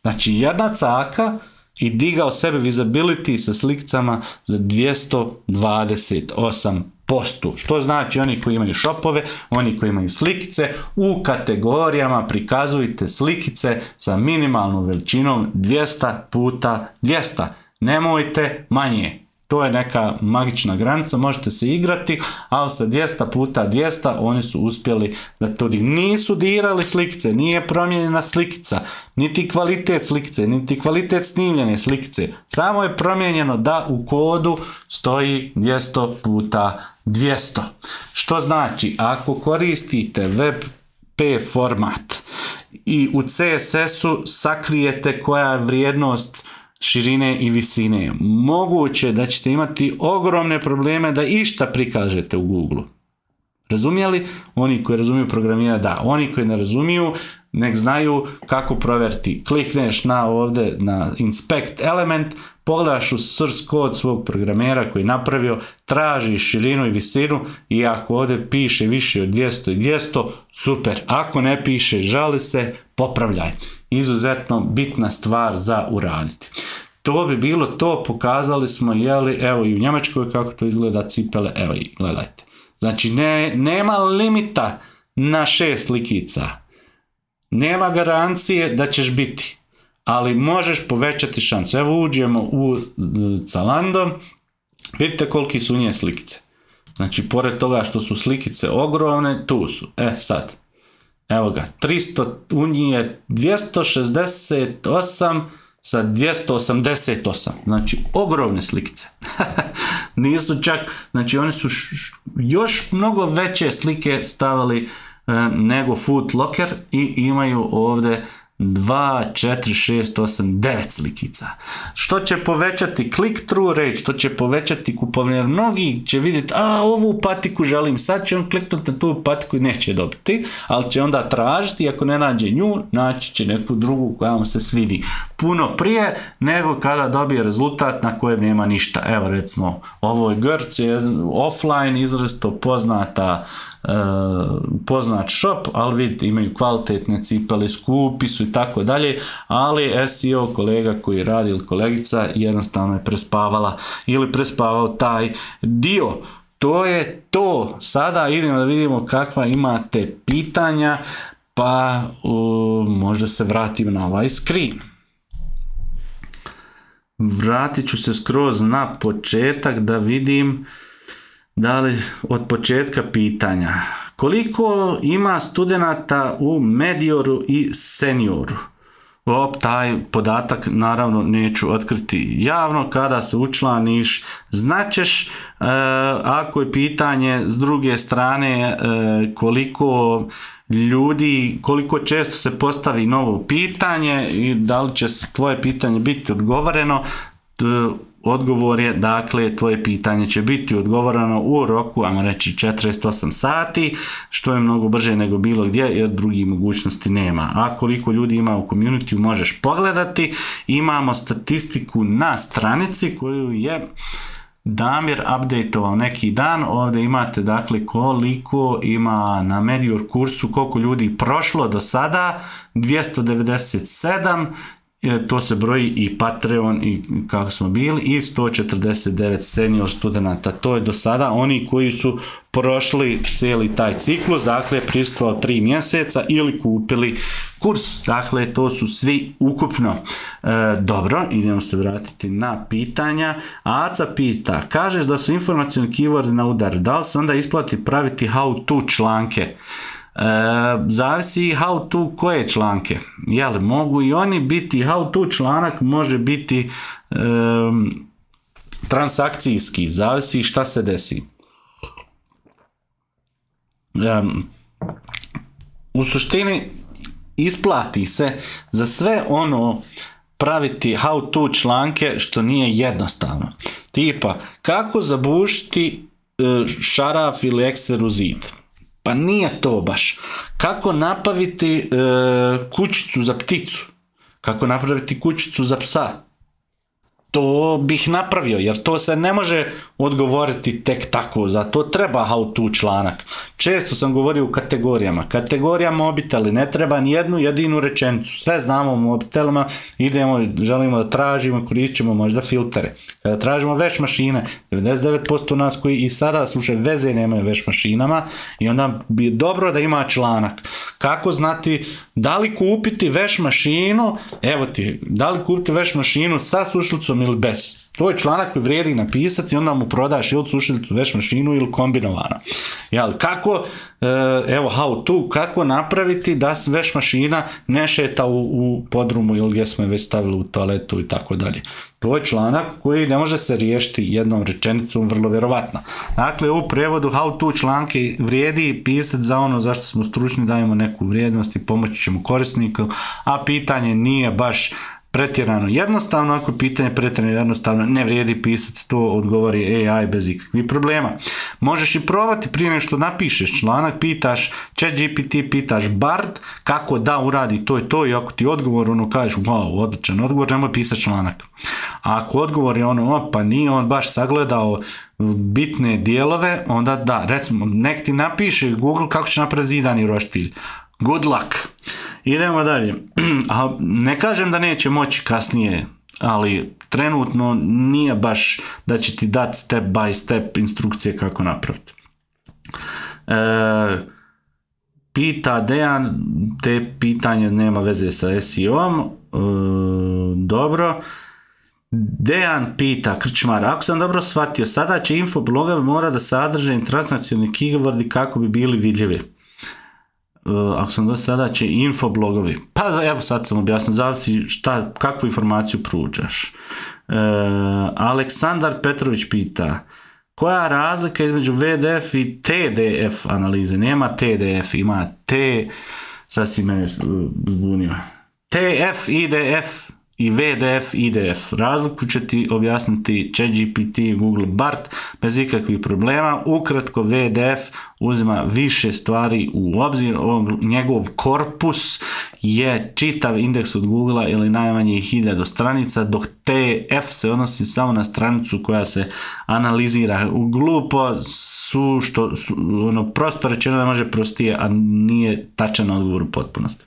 Znači, jedna caka i digao sebe visibility sa slikicama za dvjesto dvadeset osam posto. Što znači oni koji imaju shopove, oni koji imaju slikice, u kategorijama prikazujte slikice sa minimalnom veličinom dvjesto puta dvjesto. Nemojte manje. To je neka magična granica, možete se igrati, ali sa dvjesto puta dvjesto oni su uspjeli da to nisu dirali slikice, nije promijenjena slikica, niti kvalitet slikice, niti kvalitet snimljene slikice. Samo je promijenjeno da u kodu stoji dvjesto puta dvjesto. Što znači, ako koristite web pe format i u ce es esu sakrijete koja je vrijednost širine i visine, moguće da ćete imati ogromne probleme da išta prikažete u Google. Razumijeli? Oni koji razumiju programiranje, da. Oni koji ne razumiju, nek znaju kako provjeriti. Klikneš na ovdje na inspect element, pogledaš u source kod svog programera koji je napravio, traži širinu i visinu i ako ovdje piše više od dvjesto i dvjesto, super. Ako ne piše, žali se, popravljaj. Izuzetno bitna stvar za uraditi. To bi bilo to, pokazali smo, jeli, evo i u Njemačkoj kako to izgleda cipele, evo i gledajte. Znači ne, nema limita na šest slikica. Nema garancije da ćeš biti, ali možeš povećati šansu. Evo uđemo u Zalando, vidite koliki su nje slikice. Znači pored toga što su slikice ogromne, tu su. E sad, evo ga, tristo, u njih je dvjesto šezdeset osam sa dvjesto osamdeset osam, znači ogromne slikice. Nisu čak, znači oni su š, još mnogo veće slike stavili e, nego Foot Locker i imaju ovdje dva, četiri, šest, osam, devet slikica. Što će povećati click-through rate, što će povećati kupovanje, jer mnogi će vidjeti, a ovu patiku želim, sad će on kliknuti na tu patiku i neće dobiti, ali će onda tražiti, ako ne nađe nju, naći će neku drugu koja mu se svidi puno prije nego kada dobije rezultat na kojem nema ništa. Evo recimo, ovo je Grc, je offline, izrazito poznata Uh, poznat shop, ali vidite imaju kvalitetne cipele, skupi su i tako dalje, ali es e o kolega koji radi ili kolegica jednostavno je prespavala ili prespavao taj dio. To je to. Sada idemo da vidimo kakva imate pitanja, pa uh, možda se vratim na ovaj screen. Vratit ću se skroz na početak da vidim da li od početka pitanja. Koliko ima studenata u Medioru i Senioru? O, taj podatak naravno neću otkriti javno. Kada se učlaniš, značeš. E, ako je pitanje s druge strane e, koliko ljudi, koliko često se postavi novo pitanje i da li će tvoje pitanje biti odgovoreno, odgovor je, dakle, tvoje pitanje će biti odgovoreno u roku, ajmo reći, četrdeset osam sati, što je mnogo brže nego bilo gdje, jer drugih mogućnosti nema. A koliko ljudi ima u community možeš pogledati. Imamo statistiku na stranici koju je Damir updateovao neki dan. Ovdje imate, dakle, koliko ima na Medior kursu, koliko ljudi prošlo do sada, dvjesto devedeset sedam, to se broji i Patreon i kako smo bili, i sto četrdeset devet senior studenta. To je do sada oni koji su prošli cijeli taj ciklus, dakle prisustvovali tri mjeseca ili kupili kurs. Dakle, to su svi ukupno. E, dobro, idemo se vratiti na pitanja. Aca pita, kažeš da su informacioni keyword na udar, da li se onda isplati praviti how to članke? E, zavisi how to koje članke. Jel, mogu i oni biti, how to članak može biti e, transakcijski, zavisi šta se desi. E, u suštini isplati se za sve ono praviti how to članke što nije jednostavno. Tipa, kako zabušiti e, šaraf ili ekser u zid? Pa nije to baš. Kako napraviti e, kućicu za pticu? Kako napraviti kućicu za psa? to bih napravio, jer to se ne može odgovoriti tek tako, za to treba how to članak. Često sam govorio u kategorijama. Kategorija mobiteli, ne treba ni jednu jedinu rečenicu. Sve znamo o mobitelima, idemo, želimo da tražimo, koristit ćemo možda filtere. Kada tražimo veš mašine, devedeset devet posto nas koji i sada slušaju veze nemaju veš mašinama i onda bi dobro da ima članak. Kako znati da li kupiti veš mašinu, evo ti, da li kupiti veš mašinu sa sušlicom ili bez. To je članak koji vrijedi napisati i onda mu prodaš ili sušilicu, veš mašinu ili kombinovano. Jel, kako, evo how to, kako napraviti da veš mašina ne šeta u, u podrumu ili gdje smo je već stavili u toaletu i tako dalje. To je članak koji ne može se riješiti jednom rečenicom, vrlo vjerovatno. Dakle, u prevodu how to članke vrijedi pisati za ono zašto smo stručni, dajemo neku vrijednost i pomoći ćemo korisniku, a pitanje nije baš pretjerano jednostavno. Ako je pitanje pretjerano jednostavno, ne vrijedi pisati, to odgovori A I bez ikakvih problema. Možeš i probati prije nego što napišeš članak, pitaš ChatGPT, pitaš Bard kako da uradi to i to i ako ti odgovor ono kažeš wow, odličan odgovor, nemoj pisati članak. A ako odgovor je ono, o, pa nije on baš sagledao bitne dijelove, onda da, recimo, nek ti napiše Google kako će napraviti zidani roštilj. Good luck. Idemo dalje. A ne kažem da neće moći kasnije, ali trenutno nije baš da će ti dati step by step instrukcije kako napraviti. E, pita Dejan, te pitanje nema veze sa S E O-om. E, dobro. Dejan pita, Krčmar, ako sam dobro shvatio, sada će infoblogovi mora da sadrže transnacionalni keywordi kako bi bili vidljivi. Uh, ako sam do sada će infoblogovi, pa evo sad sam objasnio, zavisi šta, kakvu informaciju pružaš. Uh, Aleksandar Petrović pita, koja je razlika između V D F i T D F analize? Nema T D F, ima T, sad si mene zbunio. T F I D F i V D F I D F. Razliku će ti objasniti ChatGPT i Google Bard bez ikakvih problema. Ukratko, V D F uzima više stvari u obzir. On, njegov korpus je čitav indeks od Googlea ili najmanje hiljadu stranica, dok T F se odnosi samo na stranicu koja se analizira. U glupo su, što, su, ono, prosto rečeno da može prostije, a nije tačan odgovor u potpunosti.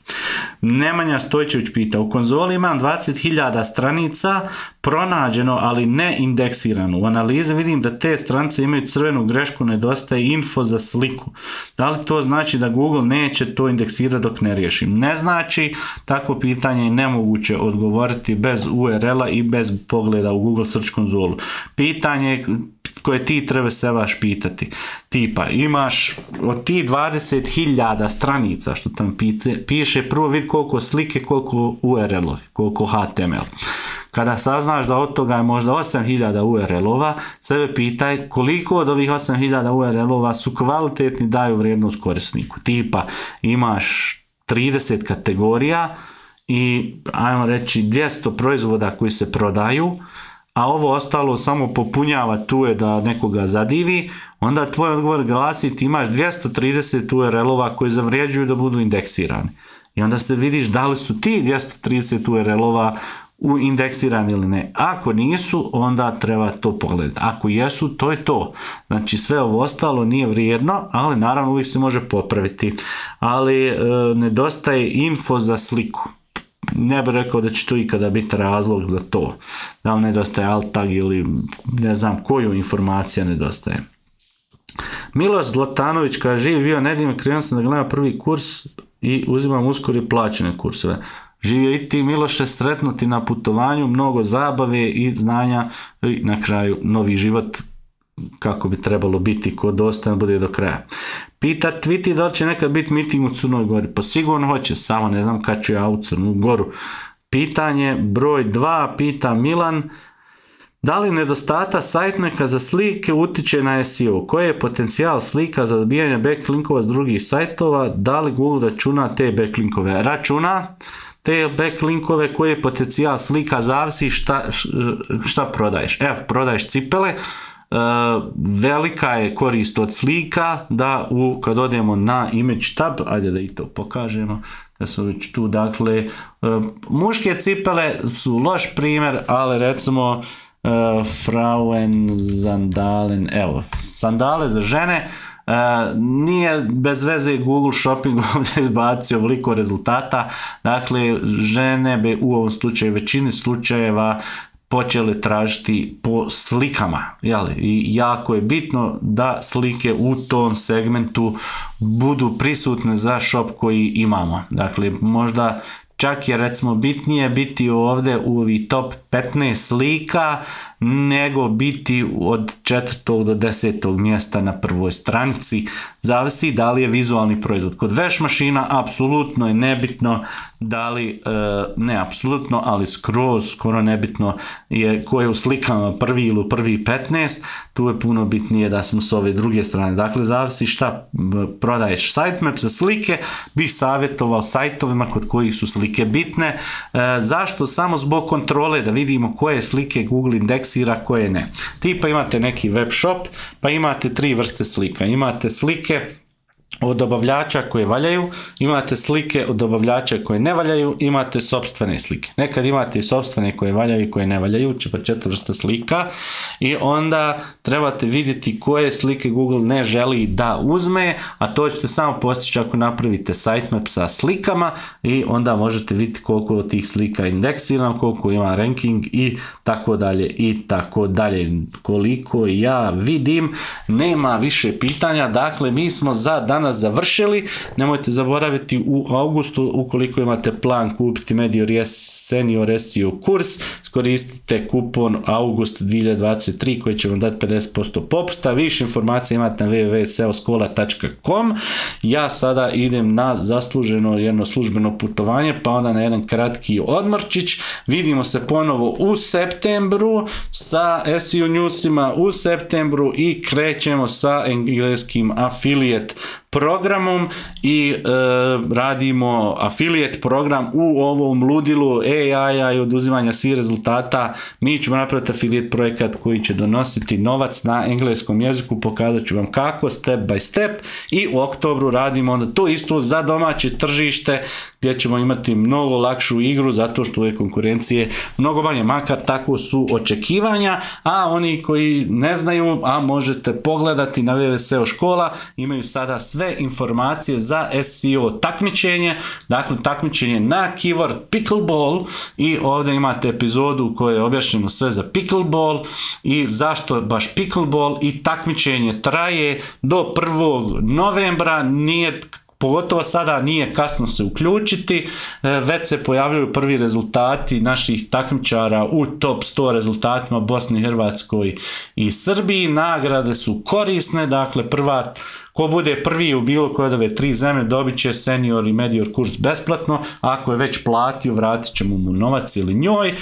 Nemanja Stojčević pita, u konzoli imam dvadeset hiljada stranica pronađeno, ali ne indeksirano. U analizi vidim da te stranice imaju crvenu grešku, nedostaje info za sliku. Da li to znači da Google neće to indeksirati dok ne riješim? Ne znači, takvo pitanje je nemoguće odgovoriti bez U R L-a i bez pogleda u Google Search konzolu. Pitanje koje ti treba se vaš pitati. Tipa, imaš od ti dvadeset hiljada stranica što tam piše, prvo vidi koliko slike, koliko U R L-ovi, koliko H T M L. Kada saznaš da od toga je možda osam hiljada U R L-ova, sebe pitaj koliko od ovih osam hiljada U R L-ova su kvalitetni, daju vrijednost korisniku. Tipa, imaš trideset kategorija i, ajmo reći, dvjesto proizvoda koji se prodaju, a ovo ostalo samo popunjava tu je da nekoga zadivi, onda tvoj odgovor glasi ti imaš dvjesto trideset U R L-ova koji zavrijeđuju da budu indeksirani. I onda se vidiš da li su ti dvjesto trideset U R L-ova u indeksirani ili ne. Ako nisu, onda treba to pogledati. Ako jesu, to je to. Znači sve ovo ostalo nije vrijedno, ali naravno uvijek se može popraviti. Ali e, nedostaje info za sliku. Ne bih rekao da će to ikada biti razlog za to. Da li nedostaje alt tag ili ne znam koju informacija nedostaje. Miloš Zlatanović kaže, živi bio nedim, krenuo sam da gledam prvi kurs i uzimam uskoro i plaćene kurseve. Živio i ti, Miloše, sretnuti na putovanju, mnogo zabave i znanja i na kraju novi život kako bi trebalo biti, ko dostojno bude do kraja. Pita Twiti da li će nekad biti miting u Crnoj Gori. Pa sigurno hoće, samo ne znam kad ću ja u Crnu Goru. Pitanje broj dva, pita Milan, da li nedostata sajtneka za slike utiče na S E O? Koji je potencijal slika za dobijanje backlinkova s drugih sajtova? Da li Google računa te backlinkove? Računa te backlinkove. Koji je potencijal slika, zavisi šta, šta prodaješ. Evo, prodaješ cipele, Uh, velika je korist od slika da u, kad odemo na image tab, ajde da i to pokažemo, da su već tu, dakle, muške cipele su loš primjer, ali recimo Uh, Frauen Sandalen, evo, sandale za žene, uh, nije bez veze Google Shopping ovdje izbacio veliko rezultata, dakle, žene bi u ovom slučaju, većini slučajeva, počeli tražiti po slikama, jeli? I jako je bitno da slike u tom segmentu budu prisutne za shop koji imamo, dakle, možda čak je recimo bitnije biti ovdje u ovi top petnaest slika nego biti od četvrtog do desetog mjesta na prvoj stranici. Zavisi da li je vizualni proizvod. Kod veš mašina apsolutno je nebitno da li, ne apsolutno, ali skroz skoro nebitno je ko je u slikama prvi ili u prvi petnaest. Tu je puno bitnije da smo s ove druge strane. Dakle, zavisi šta prodaješ. Sitemap za slike bih savjetovao sajtovima kod kojih su slike bitne. Zašto? Samo zbog kontrole, da vidimo koje slike Google indeksira, koje ne. Tipa imate neki web shop, pa imate tri vrste slika. Imate slike od dobavljača koje valjaju, imate slike od dobavljača koje ne valjaju, imate sopstvene slike. Nekad imate i sopstvene koje valjaju i koje ne valjaju, pa četiri vrste slika, i onda trebate vidjeti koje slike Google ne želi da uzme, a to ćete samo postići ako napravite sitemap sa slikama i onda možete vidjeti koliko od tih slika je indeksirano, koliko ima ranking i tako dalje i tako dalje. Koliko ja vidim, nema više pitanja, dakle mi smo za danas završili. Nemojte zaboraviti u augustu, ukoliko imate plan kupiti Medior Senior S E O kurs, iskoristite kupon august dvije hiljade dvadeset tri koji će vam dati pedeset posto popusta. Više informacija imate na w w w tačka s e o škola tačka com. Ja sada idem na zasluženo jedno službeno putovanje, pa onda na jedan kratki odmorčić. Vidimo se ponovo u septembru sa S E O newsima u septembru i krećemo sa engleskim affiliate programom i e, radimo affiliate program u ovom ludilu A I-a i oduzimanja svih rezultata. Mi ćemo napraviti affiliate projekat koji će donositi novac na engleskom jeziku, pokazat ću vam kako, step by step, i u oktobru radimo onda to isto za domaće tržište gdje ćemo imati mnogo lakšu igru zato što je konkurencije mnogo manje, makar tako su očekivanja, a oni koji ne znaju, a možete pogledati na w w w tačka s e o škola, imaju sada sve informacije za S E O takmičenje, dakle takmičenje na keyword pickleball, i ovdje imate epizodu koja je objašnjeno sve za pickleball i zašto baš pickleball, i takmičenje traje do prvog novembra, nije pogotovo sada nije kasno se uključiti, već se pojavljaju prvi rezultati naših takmičara u top sto rezultatima Bosni, Hrvatskoj i Srbiji. Nagrade su korisne, dakle prva, ko bude prvi u bilo koje od ove tri zemlje dobit će senior i medior kurs besplatno, ako je već platio vratit ćemo mu novac ili njoj.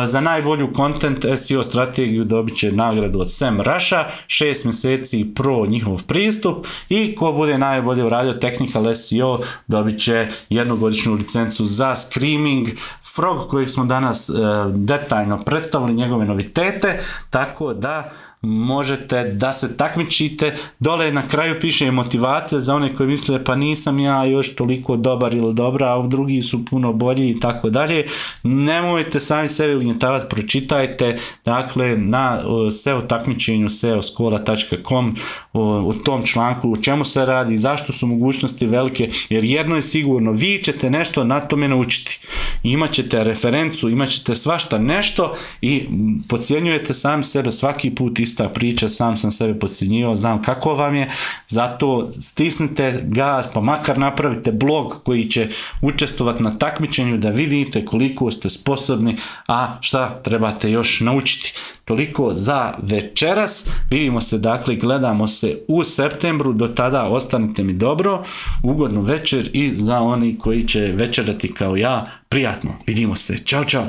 Za najbolju content S E O strategiju dobit će nagradu od SEMrush-a, šest mjeseci pro njihov pristup, i ko bude najbolje uradio technical S E O dobit će jednogodišnju licencu za Screaming Frog kojeg smo danas e, detaljno predstavili, njegove novitete, tako da možete da se takmičite. Dole na kraju piše motivacija za one koji misle pa nisam ja još toliko dobar ili dobra, a drugi su puno bolji i tako dalje. Nemojte sami sebe ugnjetavati, pročitajte dakle na S E O takmičenju s e o škola tačka com u tom članku o čemu se radi, zašto su mogućnosti velike, jer jedno je sigurno, vi ćete nešto na tome naučiti, imat ćete referencu, imat ćete svašta nešto i podcjenjujete sami sebe svaki put. Ista priča, sam sam sebe podcjenjivao, znam kako vam je, zato stisnite gas, pa makar napravite blog koji će učestvovati na takmičenju da vidite koliko ste sposobni, a šta trebate još naučiti. Toliko za večeras, vidimo se, dakle gledamo se u septembru, do tada ostanite mi dobro, ugodnu večer, i za oni koji će večerati kao ja, prijatno, vidimo se, čao čao.